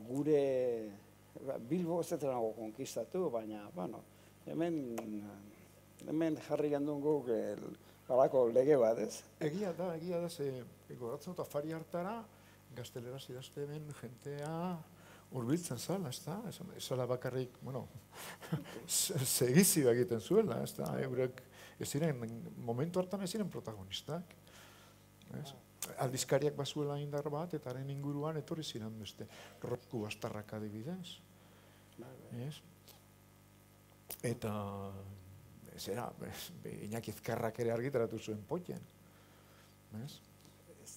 Speaker 1: gure Bilbo ez detenago konkistatu, baina, bueno, hemen jarri gendun guk alako lege bat, ez?
Speaker 2: Egia da, ze goratzen dut afari hartara, gazteleraz idazte ben jentea urbiltzen zala, ez da? Ez zala bakarrik, bueno, segizioa egiten zuela, ez da? Eurek ez ziren, momentu hartan ez ziren protagonistak. Aldizkariak bazuela indar bat, eta haren inguruan etorri ziren beste Roku Bastarrak adibidez. Eta, zera, Iñaki Ezkerrak ere argitaratu zuen potien. Ez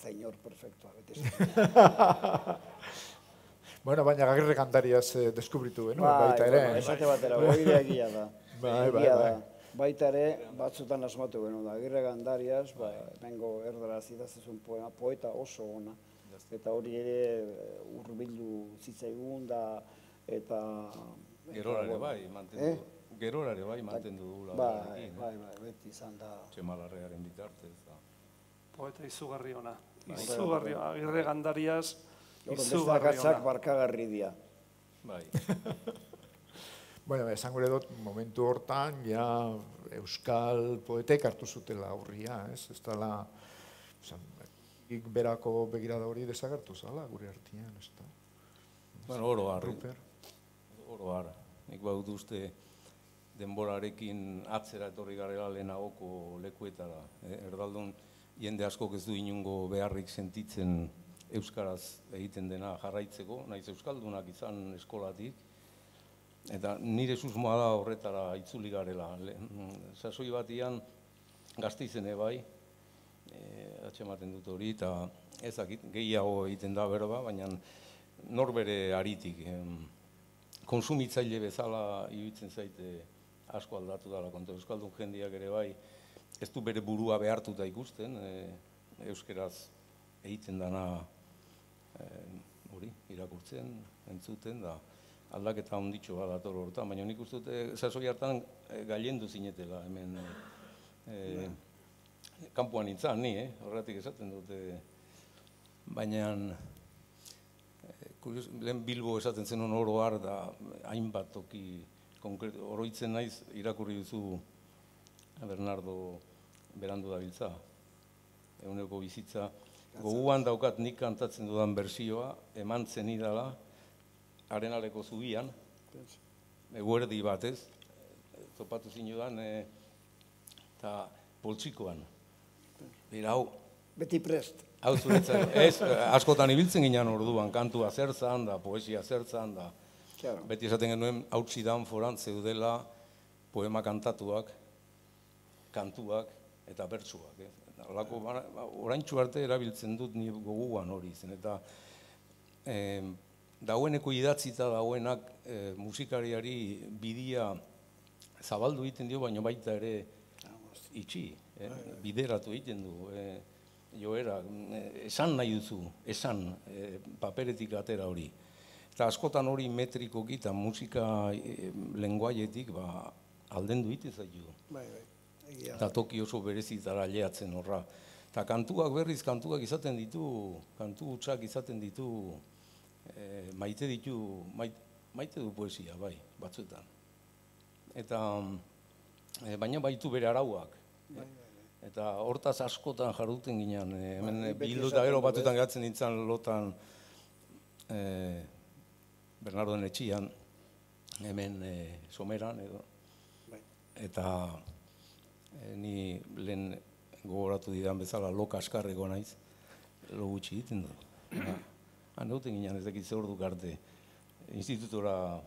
Speaker 1: da inor perfektua, beti.
Speaker 2: Bueno, baina Agirre Gandariaz deskubritu genuen, baita ere.
Speaker 1: Esate batera, hori egia da. Baita ere, batzutan asmatu genuen da. Agirre Gandariaz, hemengo erdaraz idaztezun poema, poeta oso ona. Eta hori ere hurbildu zitzaigun da, eta...
Speaker 4: Gerorare bai, mantendu. Gerorare bai, mantendu dugula.
Speaker 1: Bai, beti izan da.
Speaker 4: Txemalarrearen bitartez.
Speaker 3: Poeta izugarri ona. Izugarri, Agirre Gandariaz,
Speaker 1: izugarri ona. Beste barkagarri dia.
Speaker 4: Bai.
Speaker 2: Bueno, esan gure dut, momentu hortan, ja, euskal poetek hartu zutela aurria, ez? Ez dala, berako begirada hori desagertu zala, gure artian, ez da?
Speaker 4: Bueno, oro har. Oro har. Nik badut uste denborarekin atzera etorri garela lehenagoko lekuetara. Erdaldun, jende askok ez du inungo beharrik sentitzen euskaraz egiten dena jarraitzeko, naiz euskaldunak izan eskolatik. Eta nire susmoa da horretara itzuli garela. Sasoi batian Gasteizene bai, atxematen dut hori, eta ezakit gehiago egiten da berba, baina norbere aritik. Konsumitzaile bezala iruditzen zaite asko aldatu dela, konta euskaldun jendeak ere bai, ez du bere burua behartuta ikusten, euskeraz egiten dana hori, irakurtzen, entzuten, da aldaketa onditxo bat dator horretan, baina nik uste dute sasoi hartan gailendu zinetela, hemen kanpoan nintzen, ni, horretik esaten dute, baina lehen Bilbo esaten zenuen oro har da hainbat toki konkretu, oroitzen naiz irakurri duzu Bernardo Berandu dabiltza, eguneko bizitza, goguan daukat nik kantatzen dudan bersioa, eman zenidala, Arenaleko zubian, eguerdi batez, topatu zinudan, eta poltsikoan. Bera, hau...
Speaker 1: Beti prest.
Speaker 4: Hau zuretzat, ez, askotan ibiltzen ginen orduan, kantua zertzan da, poesia zertzan da. Beti esaten genuen, hautsidan foran zeudela poema kantatuak, kantuak eta bertsuak. Oraintsu arte erabiltzen dut ni goguan hori zen, eta dagoeneko idatzita dagoenak musikariari bidia zabaldu egiten dio, baina baita ere itxi, bideratu egiten du. Joera, esan nahi duzu, esan paperetik atera hori. Eta askotan hori metrikoki eta musika lenguaietik aldendu egiten zaitu. Eta toki oso berezitara aileatzen horra. Eta kantuak berriz, kantuak izaten ditu, kantu hutsak izaten ditu, maite du poesia, bai, batzuetan. Eta, baina baitu bere arauak. Eta hortaz askotan jarduten ginen, hemen bildu eta gero batzuetan geratzen nintzen lotan Bernardoen etxian, hemen someran edo. Eta ni lehen gogoratu didan bezala lo kaskarreko naiz, lo gutxi egiten du. Han egoten ginen ez dakit ze orduk arte, institutora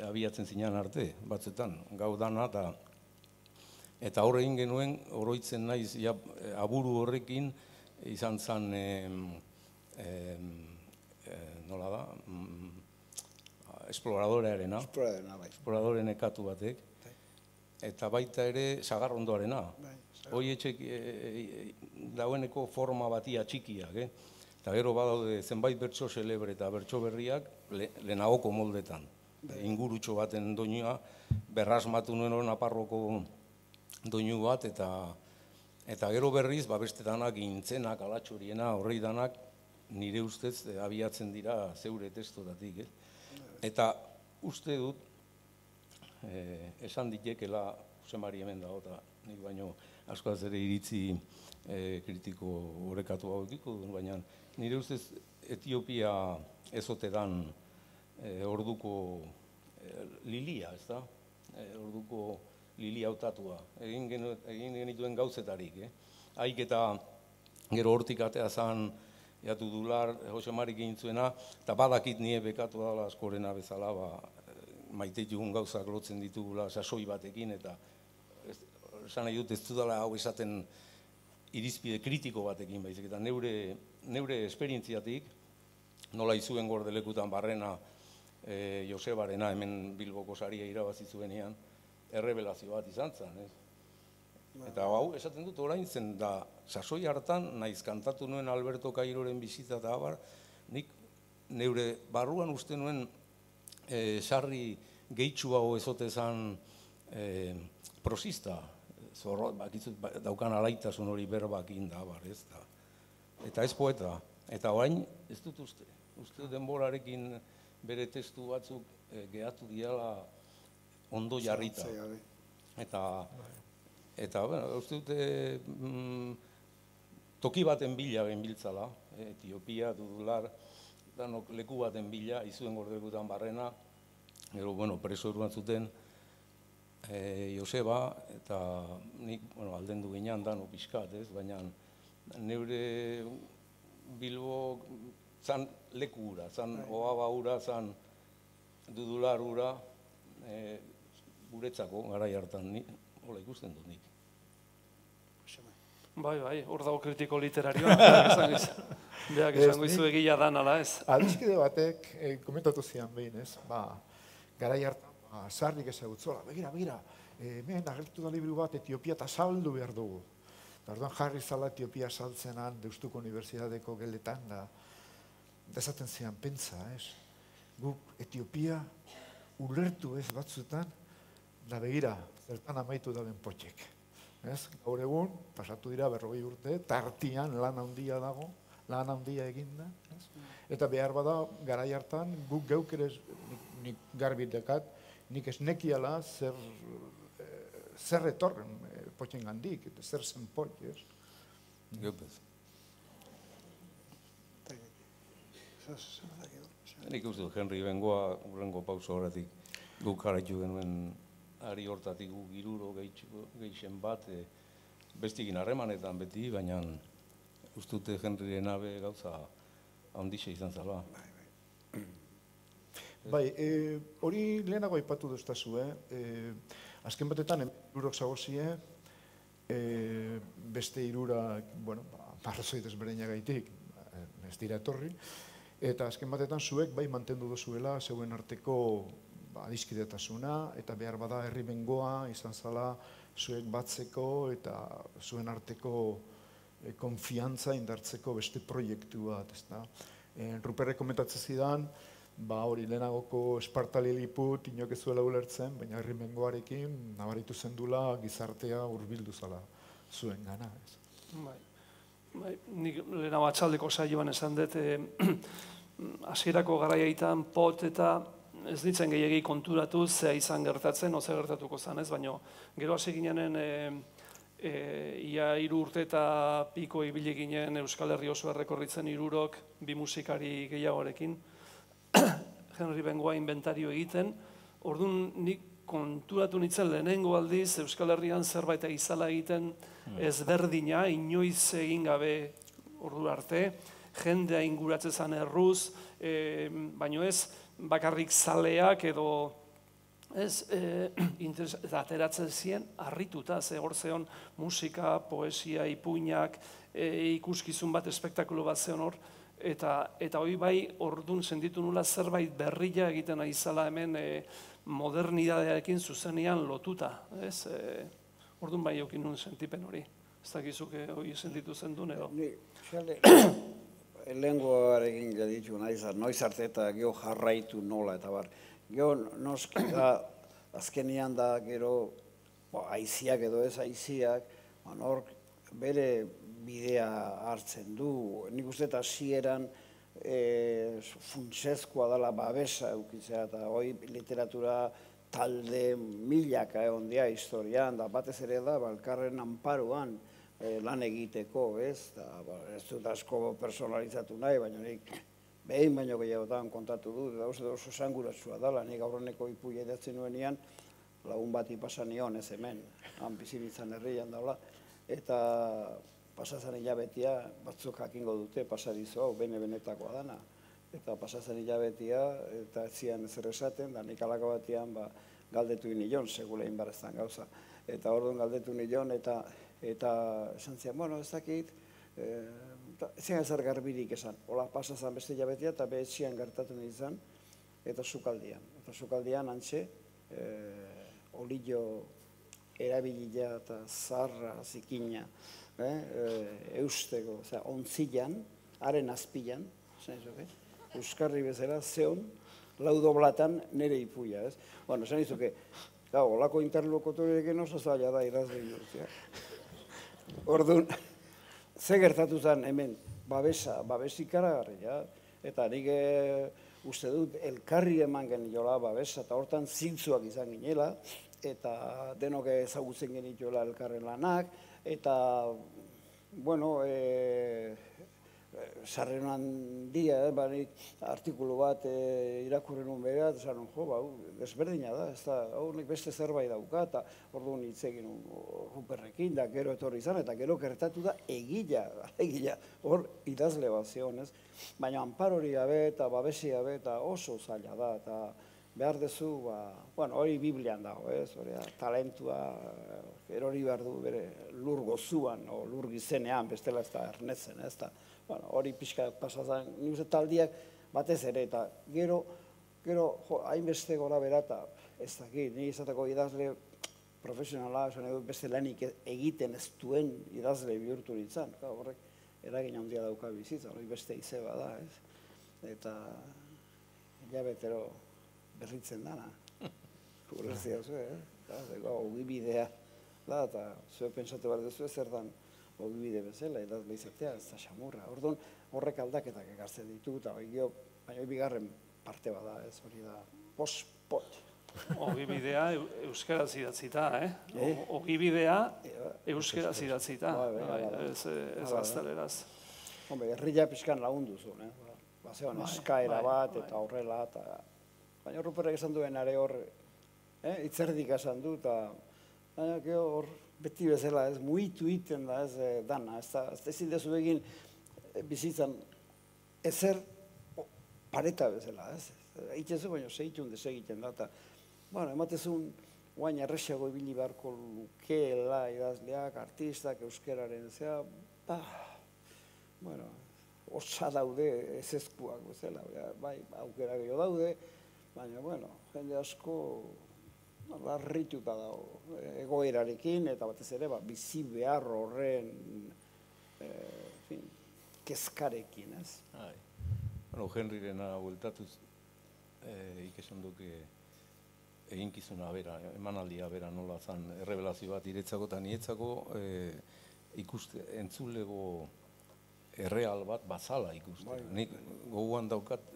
Speaker 4: abiatzen zinan arte, batzuetan, gau dana eta horre egin genuen, oroitzen naiz, aburu horrekin, izan zen, nola da, esploradorearena, esploradoren ekatu batek, eta baita ere sagarrondoarena. Hoi etxek daueneko forma batia txikiak, eta gero badaude zenbait bertso celebre eta bertso berriak lehenagoko moldetan. Ingurutxo baten doinua, berrasmatu nuen hori Naparroko doinu bat, eta gero berriz, beste danak, gintzenak, alatxoriena, horrei danak, nire ustez abiatzen dira zeure testotatik. Eta uste dut, esan ditekela, Josemari hemen dago, eta nik baino askoaz ere iritzi kritiko horrekatu hau dut, baina nire ustez Etiopia ezote dan orduko lilia, ez da? Orduko lilia hautatua. Egin genituen gauzetarik, Haik eta gero hortik atea zan, jatu dular, Jose Marik egin zuena, eta badakit nire bekatu dala askorena bezala, maite ditugun gauzak lotzen ditugula sasoi batekin, eta esan nahi dut ez dudala hau esaten irizpide kritiko batekin baizik, eta neure esperientziatik, nola izuen Gordelekutan Barrena Josebarena hemen Bilboko saria irabazi zuenean, errebelazio bat izan zen, Eta hau, esaten dut orain zen da, sasoi hartan, naiz kantatu nuen Alberto Cairoren bizitza eta abar, nik neure barruan uste nuen sarri gehitxua ezote zan prosista, daukan alaitasun hori berbakin da, abar, ez da. Eta ez poeta, eta orain ez dut uste denborarekin bere testu batzuk gehatu diala ondo jarrita. Eta, uste dute toki baten bila genbiltzala, Etiopia, Dudular, danok leku baten bila, izuen Gordelekutan Barrena, gero, preso eruan zuten Joseba, eta nik, aldendu ginean danok pixkat, baina neure Bilbo zan leku hura, zan Oaba hura, zan Dudular hura, guretzako, garai hartan, hola ikusten dut nik.
Speaker 3: Bai, hor dago kritiko literarioa, beak esango izu egia dan, ala ez?
Speaker 2: Adiskide batek, komentatu zian behin, ez? Garai hartan, sarrik ezagutzola, begira, hemen agertu da liburu bat Etiopia eta saldu behar dugu. Orduan jarri zala Etiopia saltzenan, Deustuko Unibertsitateko geletan, da esaten zian, pentsa, ez? Guk Etiopia ulertu ez batzutan, da begira, zertan amaitu da den potxek. Gaur egun, pasatu dira 40 urte, tartian lan handia dago, lan handia eginda. Eta behar bada, garai hartan, guk geuk ere, nik garbi dekat, nik ez nekiala zer etorren potxen gandik, zer zen potx, ez?
Speaker 4: Geupez. Nik uste dut, Henry Bengoa, urrengo pauso horretik, guk jarraitu genuen ari hortatik gu giruro gehixen bat, bestikin harremanetan beti, baina ustute Henryren abe gauza handixe izan zala.
Speaker 2: Bai, hori lehenago aipatu duztazu, azken batetan, hirurok zagozie, beste hirurak, arrazoi desberdinagaitik, ez dira etorri, eta azken batetan zuek bai mantendu duzuela zeuen arteko adiskidetasuna, eta behar bada herri bengoa izan zala zuek batzeko eta zuen arteko konfiantza indartzeko beste proiektu bat, ez da. Ruperrek komentatzen zidan, hori lehenagoko Esparta Liliput inok ez zuela ulertzen, baina herri bengoarekin nabaritu zendula gizartea hurbildu zala zuen gana.
Speaker 3: Nik lehenago atxaldeko saioan esan dut, hasierako garaiaitan pot eta ez ditzen gehiagi konturatu zea izan gertatzen, oze gertatuko zanez, baina gero hasi ginenen ia 3 urte eta piko ibili ginen Euskal Herri oso errekorritzen 3 bi musikari gehiagorekin, Henry Bengoa inventario egiten, orduan nik konturatu nintzen lehenengo aldiz Euskal Herrian zerbait izala egiten ezberdina, inoiz egin gabe ordu arte, jendea inguratzen zen erruz, baino ez bakarrik zaleak edo ateratzen ziren harrituta, hor zeon musika, poesia, ipuinak, ikuskizun bat, espektakulo bat zeon hor, eta hori bai orduan senditu nula zerbait berria egiten aizala hemen modernidadearekin zuzenean lotuta. Orduan bai eukin nuen sentipen hori. Ez dakizuk hori sentitu zen duen edo?
Speaker 1: Lehengoarekin jaditu noiz arte eta geho jarraitu nola eta bar. Geho noski da, azkenian da gero aiziak edo ez aiziak, hork bere bidea hartzen du. Nik uste eta hasieran funtsezkoa dela babesa eukitzea eta hoi literatura talde milaka egon dia historian, da batez ere da, elkarren anparoan lan egiteko, ez? Ez dut asko personalizatu nahi, baina nik behin baino gehiagotan kontatu du, eta oso esanguratsua dela, nik aurreneko ipuia idatzi nuenean, lagun bati pasa nion ez hemen, han bizibitzan herrian daula, eta pasazan hilabetia, batzuk jakingo dute pasadizo hau, bene-benetakoa dana, eta pasazan hilabetia, eta ez zian ezer esaten, da nik alako batian galdetu nion, segula inbarreztan gauza. Eta orduan galdetu nion, eta esan zian, bueno, ez dakit, ez zian ezer garbirik esan, hola pasazan beste hilabetia, eta behetxian gertatu nintzen, eta sukaldian. Eta sukaldian antxe, olillo erabilia eta zarra, zikina, eusteko, ontzilan, haren azpilan, euskarri bezala, zeon, lau doblatan nire ipuia, ez? Bueno, esan izuke, olako interlokutorekin oso zaila da idazle bihurtzea. Orduan, ze gertatu zen hemen, babes ikaragarria, eta nik uste dut elkarri eman geniola babesa, eta hortan zintzuak izan ginela, eta denok ezagutzen genituela elkarren lanak, eta, bueno, sarren handia, artikulu bat irakurren un bera, eta zaren, desberdina da, ez da, nik beste zerbait dauka, eta orduan hitz egin Ruperrekin, da gero etorri izan, eta gero gertatu da egila, hor idazle bat zion, ez? Baina anpar hori gabe, eta babesi gabe, eta oso zaila da, eta behar dezu, hori Biblian dago, ez? Talentua, erori behar du bere lur gozuan, o lur gizenean, bestela ez da ernetzen, ez da. Hori pixka pasazan, nik uste taldiak batez ere, eta gero, hainbeste gora bera, eta ez dakit, nik izateko idazle profesionala, beste lanik egiten ez duen idazle bihurtu nintzen, horrek eragin handia dauka bizitza, hori beste izeba da, ez? Eta hilabetero berritzen dana, urrezia zuen, ogibidea, eta zuen pentsatu behar duzu zer dan, ogibide bezala, edazle izatea, ez da xamurra. Orduan, horrek aldaketak ekartzen ditu, eta baina bigarren parte bada, ez hori da, post-pot.
Speaker 3: Ogibidea euskaraz idatzita, Ogibidea euskaraz idatzita, ez gazteleraz.
Speaker 1: Herria pixkan lagundu zuen, bazean eskaera bat, eta horrela, baina Ruperrek esan duen are hor, itzerdik esan du, eta baina hor, beti bezala, ez, muitu iten da, ez, dana, ez zindezu egin bizitzan ezer pareta bezala, ez, egitezu, baina segitun desegiten da, eta, ematezun, guain errexiago ibili beharko lukeela idazleak, artistak, euskeraren, zera, osa daude ezezkuak bezala, bai, aukera gehiago daude, baina, jende asko, larrituta dago egoerarekin, eta batez ere bizi behar horren kezkarekin, ez?
Speaker 4: Henryrena bueltatuz ikesan duke eginkizuna bera, emanaldia bera nola zan errebelazio bat iretzako eta nietzako entzulego erreal bat bazala ikuste. Nik goguan daukat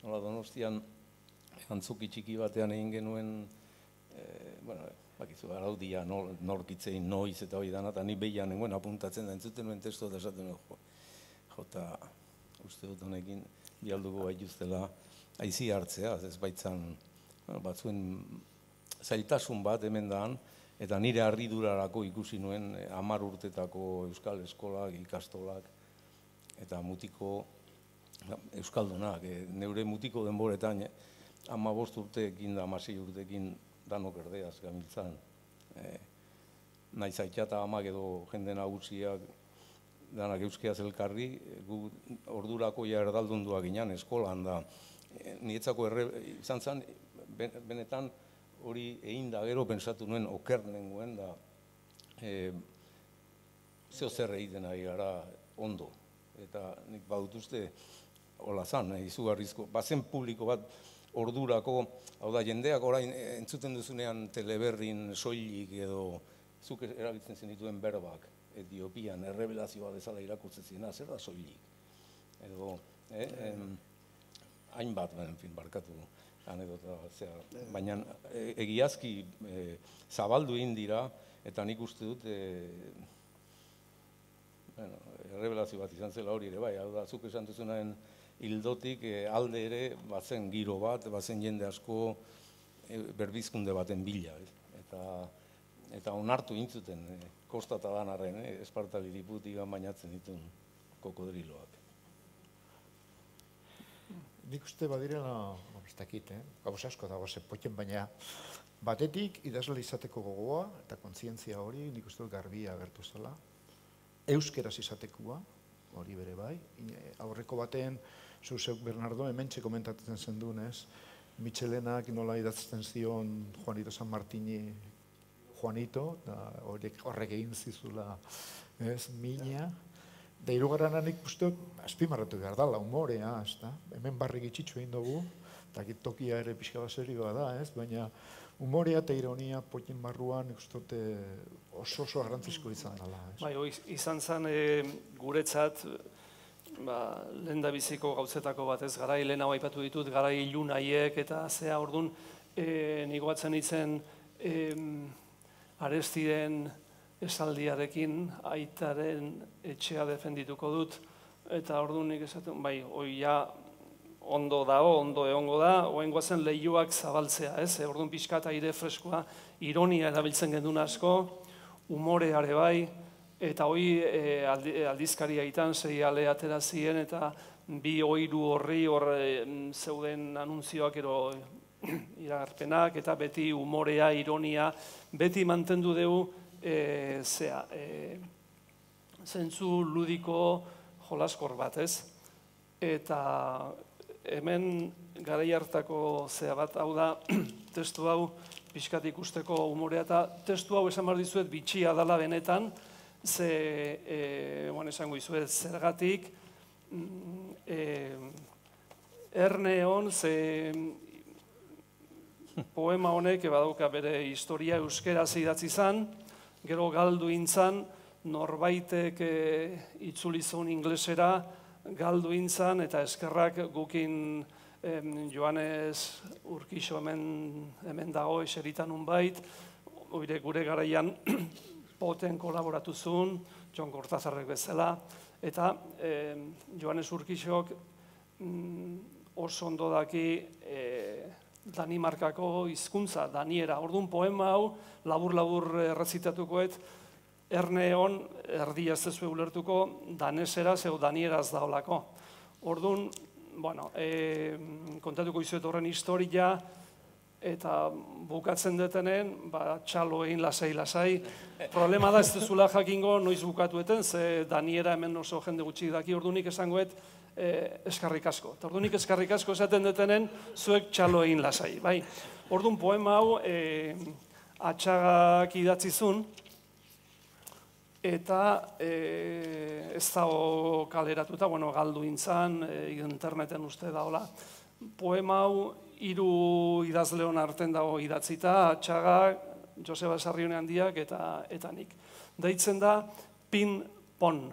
Speaker 4: nola Donostian antzuki txiki batean egin genuen bakizu, araudia norkitzein noiz eta hori dana, eta ni behian nengoen apuntatzen da entzuten nuen testu eta esaten jota uste dut honekin bialduko baituztela aizi hartzea, ez baitzan batzuen zailtasun bat hemen daan, eta nire harridurarako ikusi nuen 10 urtetako euskal eskolak, ikastolak, eta mutiko euskaldunak, neure mutiko denboretan 15 urteekin da 16 urteekin danok erdeaz gamiltzan. Naiz aita eta amak edo jende nagusiak danak euskeaz elkarri, gu ordurako ja erdaldunduak ginen eskolan da. Nietzako izan zen, benetan hori egin da gero pensatu nuen oker nengoen da zeo zer egiten ari gara ondo. Eta nik badutuzte hola zan, izugarrizko, bazen publiko bat ordurako, hau da, jendeak orain entzuten duzunean teleberrin soilik edo zuk erabiltzen zenituen berbak, Etiopian, errebelazioa bezala irakurtzen zena, zer da soilik? Edo, hainbat, barkatu anekdota, baina egiazki zabaldu egin dira, eta nik uste dut, errebelazio bat izan zela hori ere bai, hau da, zuk esan duzunaren hildotik alde ere bazen giro bat, bazen jende asko berbizkunde baten bila, eta onartu intzuten kostata danarren, Esparta Liliputik bainatzen dituen kokodriloak.
Speaker 2: Nik uste badirela, ez dakit, gauz asko dago poten, baina batetik idazle izateko gogoa eta kontzientzia hori nik uste garbia agertu zela. Euskeraz izatekoa, hori bere bai. Aurreko baten, zuzek Bernardo, hementxe komentatzen zendun, ez? Mitxelenak nola idazten zion Juanito San Martini Juanito, horrek egin zizula, ez, mina. Da hirugarrenan ikusten, azpimarratu behar dala, humorea, ez da? Hemen barrik itxitxu egin dugu, eta tokia ere pixka bat serioa da, ez? Baina humorea eta ironia potin barruan ikusten oso garrantzizko izan dela, ez?
Speaker 3: Bai, izan zen guretzat, lehendabiziko gauzetako bat ez, garai lehen hau aipatu ditut, garai ilunaiek eta zea orduan, nigoatzen itzen Arestiren esaldiarekin aitaren etxea defendituko dut, eta orduan nik esaten, bai, hoi ja ondo dago, ondo egongo da, oen guazen lehioak zabaltzea, ez? Orduan pixka eta aire freskoa, ironia erabiltzen gendun asko, humoreare bai, eta hoi aldizkari aitan zei ale atera ziren, eta bi oiru horri zeuden anunzioak ero iragarpenak, eta beti humorea, ironia, beti mantendu dugu zentzu ludiko jolaskor bat, ez? Eta hemen garai hartako zea bat, hau da, testu hau pixkat ikusteko humorea, eta testu hau esan behar dizuet bitxia dala benetan, ze, esango dizuet, zergatik, Erneon, ze poema honek badauka bere historia euskeraz idatzi zan, gero galdu intzan, norbaitek itzulizun inglesera, galdu intzan, eta eskerrak gukin Joanes Urkixo hemen dago eseritan unbait, gure garaian poten kolaboratu zuen, Jon Kortazarrek bezala, eta Joanes Urkixok oso ondo daki Danimarkako hizkuntza, daniera. Orduan poema hau, labur-labur errezitatukoet, Erneon, erdia ez dezue ulertuko, daneseraz edo danieraz daolako. Orduan, bueno, kontatuko izuet horren historia, eta bukatzen detenen, txalo egin lasai. Problema da ez dezula jakingo noiz bukatueten, ze daniera hemen oso jende gutxi daki, orduanik esangoet, eskarrik asko. Orduanik eskarrik asko esaten detenen, zuek txalo egin lasai. Orduan poema hau Atxagak idatzizun, eta ez dago kaleratuta, galdu intzan, interneten uste daola. Poema hau 3 idazleon arten dago idatzita, Atxagak, Joseba Sarrione Handiak eta nik. Deitzen da pin-pon.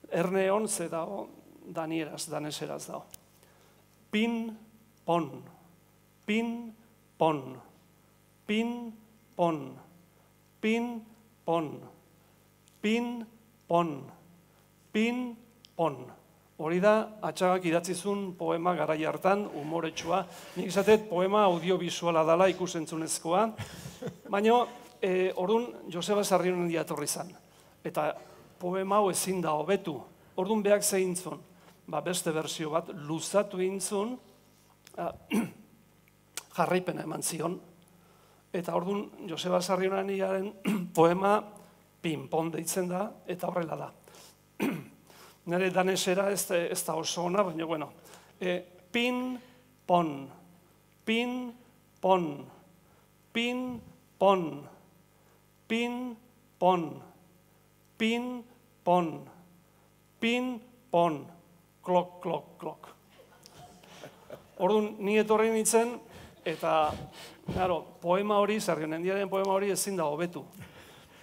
Speaker 3: Erneon ze dago danieraz, daneseraz dago. Pin-pon, pin-pon, pin-pon, pin-pon, pin-pon, pin-pon. Hori da, Atxagak idatzizun poema garai hartan, humoretsua. Nik esatet poema audiovisuala dela ikusentzunezkoa, baina orduan Joseba Sarrione Handia etorri zan. Eta poema hau ezin da hobetu. Orduan behak zeintzun, beste berzio bat, luzatu intzun, jarraipena eman zion. Eta orduan Joseba Sarrione Handiaren poema pin-pon deitzen da, eta horrela da. Nire danesera ez da oso ona, baina, bueno, pin-pon, pin-pon, pin-pon, pin-pon, pin-pon, pin-pon, klok, klok, klok. Orduan, ni etorri nintzen, eta, poema hori, Sarrione Handiaren poema hori ezin da hobetu.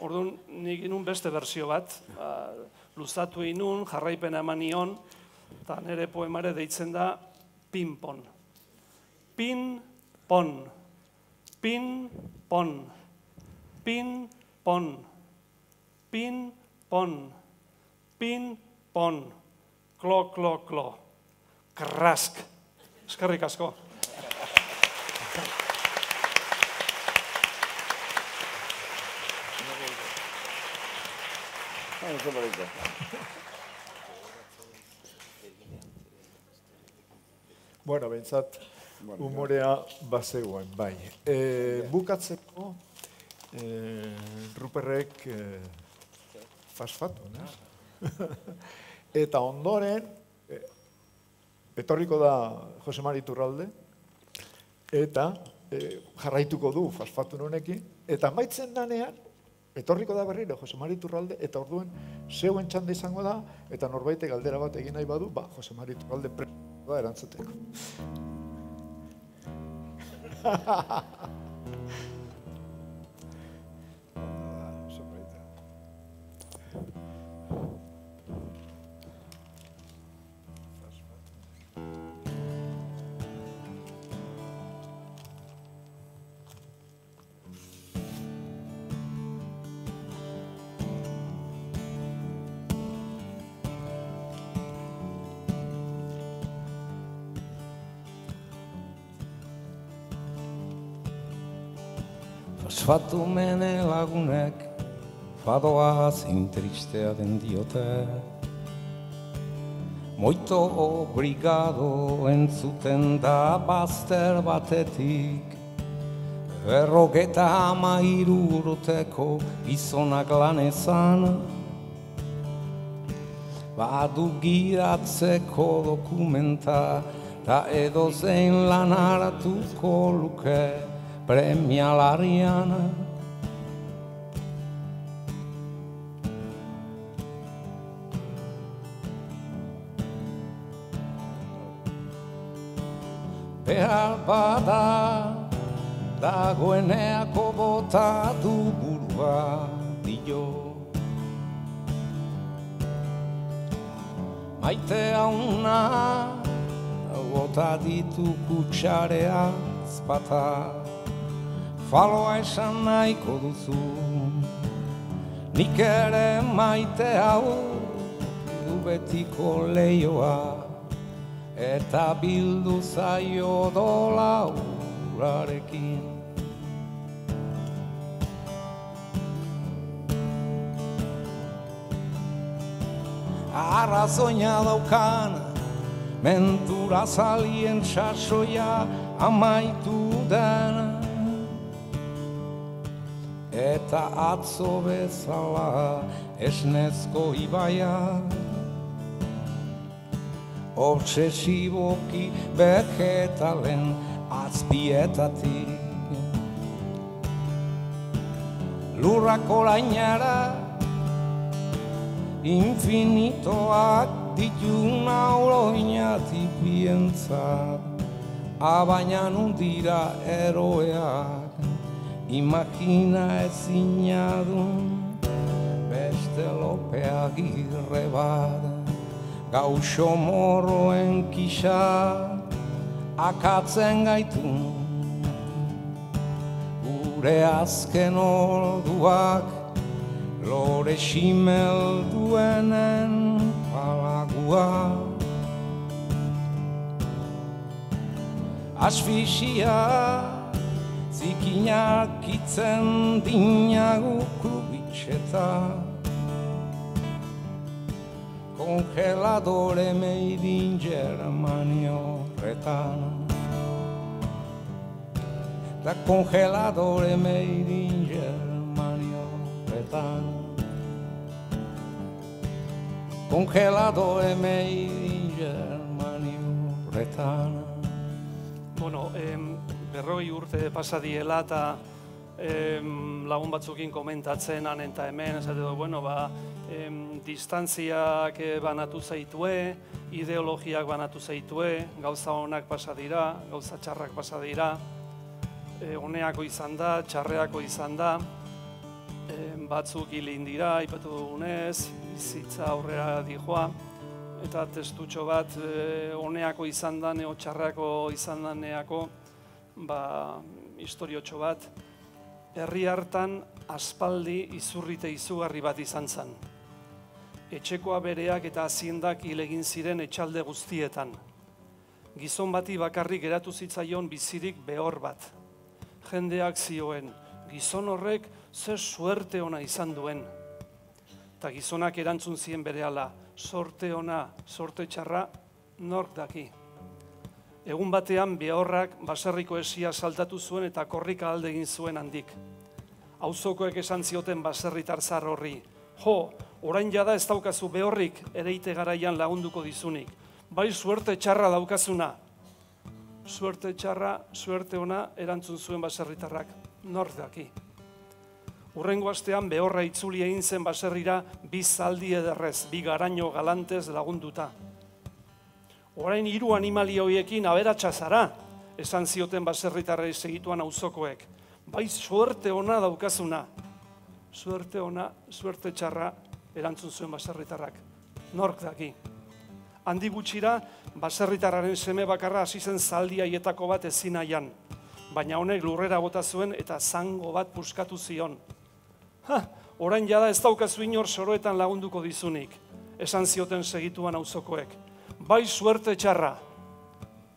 Speaker 3: Orduan, nik inun beste berzio bat, luzatu inun, jarraipena eman nion, eta nire poemare deitzen da pin-pon. Pin-pon, pin-pon, pin-pon, pin-pon, Pin, pon, klo, klo, klo. Krask. Eskerrik asko.
Speaker 2: Bueno, behintzat, humorea bazegoen, bai. Bukatzeko, Ruperrek fasfatu, ne? Eta ondoren, etorriko da Jose Mari Iturralde, eta jarraituko du fasfatu honekin, eta amaitzen danean, etorriko da berriro Jose Mari Iturralde, eta orduen zeuen txanda izango da, eta norbaite galdera bat egin nahi badu, Jose Mari Iturralde da erantzuteko.
Speaker 4: Fosfatu mene lagunek fadoa zein tristea den diote. Moito obrigado entzuten da bazter batetik, 53 urteko gizonak lanezan, badu gidatzeko dokumenta, ta edozein lan hartuko luke premialarian. Behar bada dagoeneako bota du burua dio. Maite hauna bota ditu kutsarea azpata. Faloa esan nahiko duzu, nik ere maite hau du betiko leioa, eta bildu zaio dola urarekin. Arrazoina daukan, mentura zalien sasoia amaitu dena, eta atzo bezala esnezko ibaia, obsesiboki vegetalen azpietatik. Lurrak orainara infinitoak dituna oroinatik bientzat, abaina nundira eroeak, imagina ezinadun beste Lope Agirre bat, gauxo morroen kisa akatzen gaitu, gure azken orduak lore ximel duenen palagua. Asfixia zikinak itzen dinagu krubitxeta, congeladore made in Germany horretan, da congeladore made in Germany horretan, congeladore made in Germany horretan.
Speaker 3: Bueno, 40 urte pasadiela eta lagun batzukin komentatzen han eta hemen, esate du, bueno, distantziak banatu zaitue, ideologiak banatu zaitue, gauza honak pasa dira, gauza txarrak pasa dira, honeako izan da, txarreako izan da, batzuk hilin dira, aipatu dugunez, bizitza aurrera dijoa, eta testutxo bat honeako izan da, neo txarreako izan da neako, historiotxo bat, herri hartan aspaldi izurrite izugarri bat izan zen. etxekoa bereak eta haziendak hil egin ziren etxalde guztietan. Gizon bati bakarrik geratu zitzaion bizirik behor bat. Jendeak zioen, gizon horrek ze suerte ona izan duen. Ta gizonak erantzun zien berehala, sorte ona, sorte txarra, nork daki. Egun batean behorrak baserriko esia saltatu zuen eta korrika alde egin zuen handik. Auzokoek esan zioten baserritar zahar horri, jo, orain jada ez daukazu behorrik ereite garaian lagunduko dizunik. Bai suerte txarra daukazuna. Suerte txarra, suerte ona erantzun zuen baserritarrak, nork daki. Hurrengo astean behorra itzuli egin zen baserrira bi zaldi ederrez, bi garaino galantez lagunduta. Orain 3 animali horiekin aberatsa zara, esan zioten baserritarrei segituan auzokoek. Bai suerte ona daukazuna. Suerte ona, suerte txarra erantzun zuen baserritarrak, nork daki. Handi gutxira, baserritarraren seme bakarra hasi zen zaldi haietako bat ezin nahian, baina honek lurrera bota zuen eta zango bat puskatu zion. Orain jada ez daukazu inor soroetan lagunduko dizunik, esan zioten segituan auzokoek. Bai suerte txarra.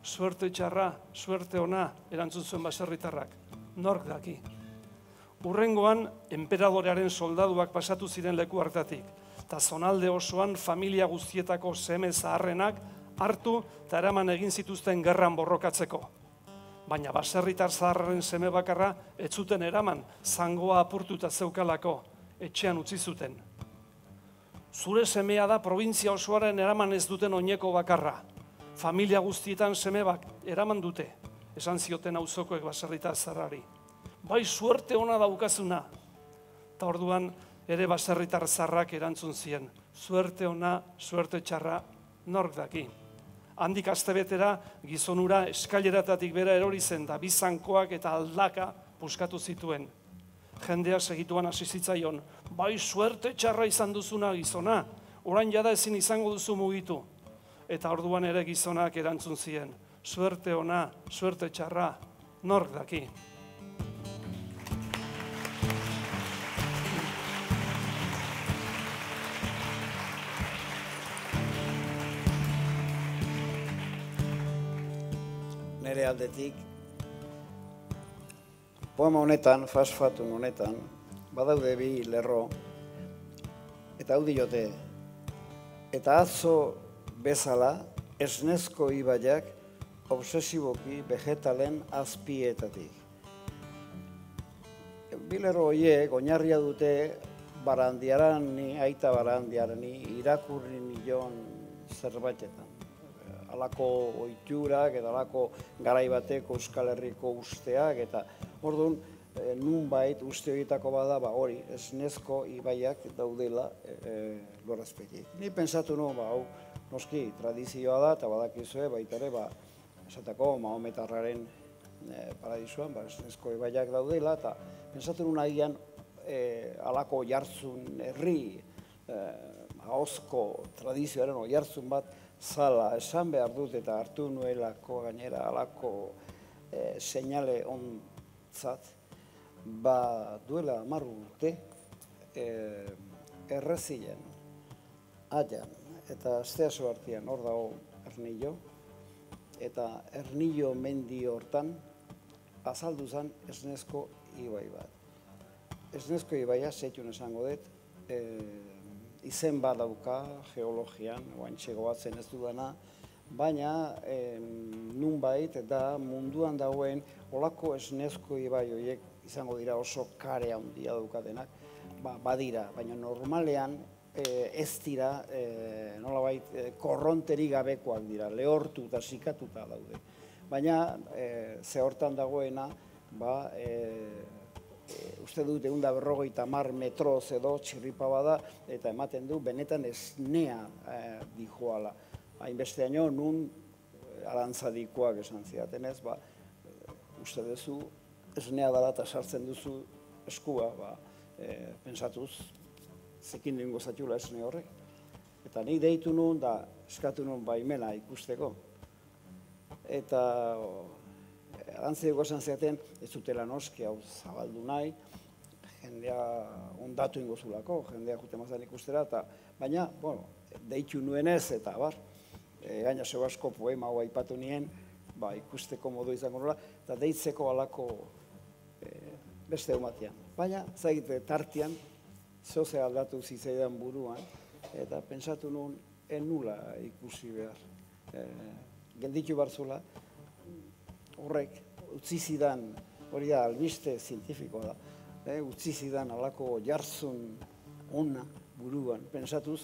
Speaker 3: Suerte txarra, suerte ona erantzun zuen baserritarrak, nork daki. Hurrengoan, enperadorearen soldaduak pasatu ziren leku hartatik, eta zonalde osoan familia guztietako seme zaharrenak hartu eta eraman egin zituzten gerran borrokatzeko. Baina baserritar zaharren seme bakarra ez zuten eraman, zangoa apurtuta zeukalako, etxean utzi zuten. Zure semea da probintzia osoaren eraman ez duten oineko bakarra. Familia guztietan semebak eraman dute, esan zioten auzokoek baserritar zaharrari. Bai suerte ona daukazuna. Eta orduan ere baserritar zaharrak erantzun zien. Suerte ona, suerte txarra, nork daki. Handik astebetera gizonura eskaileratatik bera erori zen da bizankoak eta aldaka puskatu zituen. Jendea segituan hasi zitzaion, bai suerte txarra izan duzuna gizona, orain jada ezin izango duzu mugitu. Eta orduan ere gizonak erantzun zien, suerte ona, suerte txarra, nork daki.
Speaker 1: Nere aldetik, poema honetan, fasfatun honetan, badaude bi lerro, eta hau diote, eta atzo bezala esnezko ibaiak obsesiboki vegetalen azpietatik. Bi lerro horiek oinarria dute Barandiarani, aita Barandiarani, irakurri nion zerbaitetan. Alako ohiturak eta alako garaibateko Euskal Herriko usteak eta orduan nunbait uste horietako bada hori esnezko ibaiak daudela lurrazpetik. Ni pentsatu nuen hau noski tradizioa da eta badakizue baita ere esateko Mahometarraren paradisuan esnezko ibaiak daudela eta pentsatu nuen agian alako oihartzun herri ahozko tradizioaren oihartzun bat zala, esan behar dut eta hartu nuelako gainera alako seinale ontzat, duela 10 urte errezilen, aian, eta Asteaso artean hor dago Ernillo, eta Ernillo mendi hortan azaldu zen esnezko ibai bat. Esnezko ibaia, zeitun esango dut, izen bat dauka geologian, oantxe goatzen ez dudana, baina nunbait da munduan dagoen olako esnezko ibai horiek izango dira oso kare handia daukatenak, badira, baina normalean ez dira nolabait korronterik gabekoak dira, lehortu eta sikatuta daude. Baina ze hortan dagoena, uste dut 150 metroz edo txirripa bada eta ematen du benetan esnea dijoala. Hainbesteaino nun arantzadikoak esan zidaten ez, uste duzu esnea dela eta sartzen duzu eskua, pentsatuz zekin dengo zatxula esne horrek. Eta nik deitu nun da eskatu nun baimena ikusteko. Eta arantzadiko esan zidaten ez dutela noski hau zabaldu nahi, jendea ondatu ingo zulako, jendea jute mazan ikustera, baina, bueno, deitu nuenez, eta bar, gaina zeu asko poema hau aipatu nien, ikusteko modu izango nola, eta deitzeko alako beste eumatean. Baina, zaite, tartian, zoze aldatu zitzaidan buruan, eta pentsatu nuen, nula ikusi behar. Gelditu barzula, horrek, utzi zidan, hori da, albiste zientifikoa da, utzi zidan alako jartzun ona buruan, pentsatuz,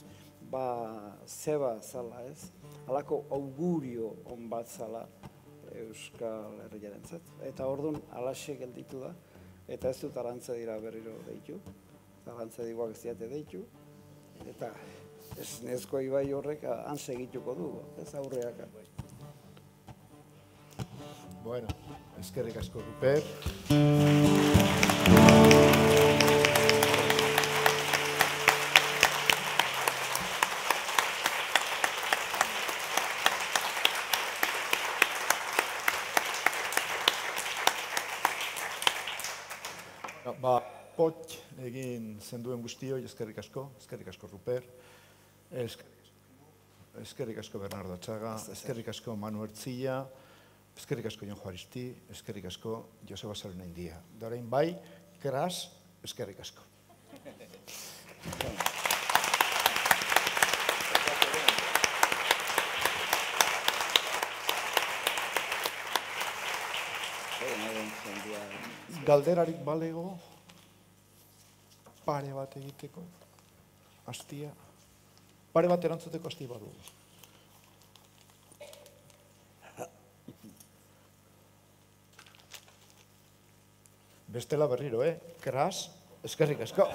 Speaker 1: zeba zala ez, alako augurio on bat zala Euskal Herriarentzat. Eta orduan, alaxe gelditu da, eta ez dut Arantza dira berriro deitu, Arantza diguak ez diate deitu, eta ez nezko ibai horrek han segituko du, ez aurreak.
Speaker 2: Bueno, eskerrik asko, Ruper. Pot egin zenduen guztioi, eskerrik asko Ruper, eskerrik asko Bernardo Atxaga, eskerrik asko Manu Ertzilla, eskerrik asko Jon Juaristi, eskerrik asko Joseba Sarunaindia. Dorain bai, Kras, eskerrik asko. Galderarik balego, pare bat egiteko, hastia, pare bat erantzuteko hasti badu. Bestela berriro, Kras, eskerrik asko.